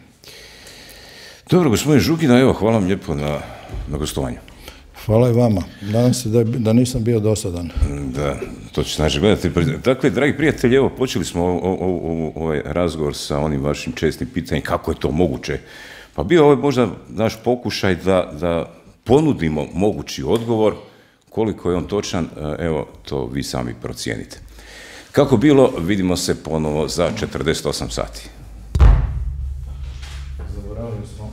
Dobro, gospodin Žukina, evo, hvala vam lijepo na, na gostovanju. Hvala i vama. Nadam se da, da nisam bio dosadan. Da, to će znači gledati. Dakle, dragi prijatelji, evo, počeli smo o, o, o, ovaj razgovor sa onim vašim čestim pitanjem kako je to moguće. Pa bio ovo možda naš pokušaj da, da ponudimo mogući odgovor, koliko je on točan, evo, to vi sami procijenite. Kako bilo, vidimo se ponovo za četrdeset osam sati. Zaboravili smo.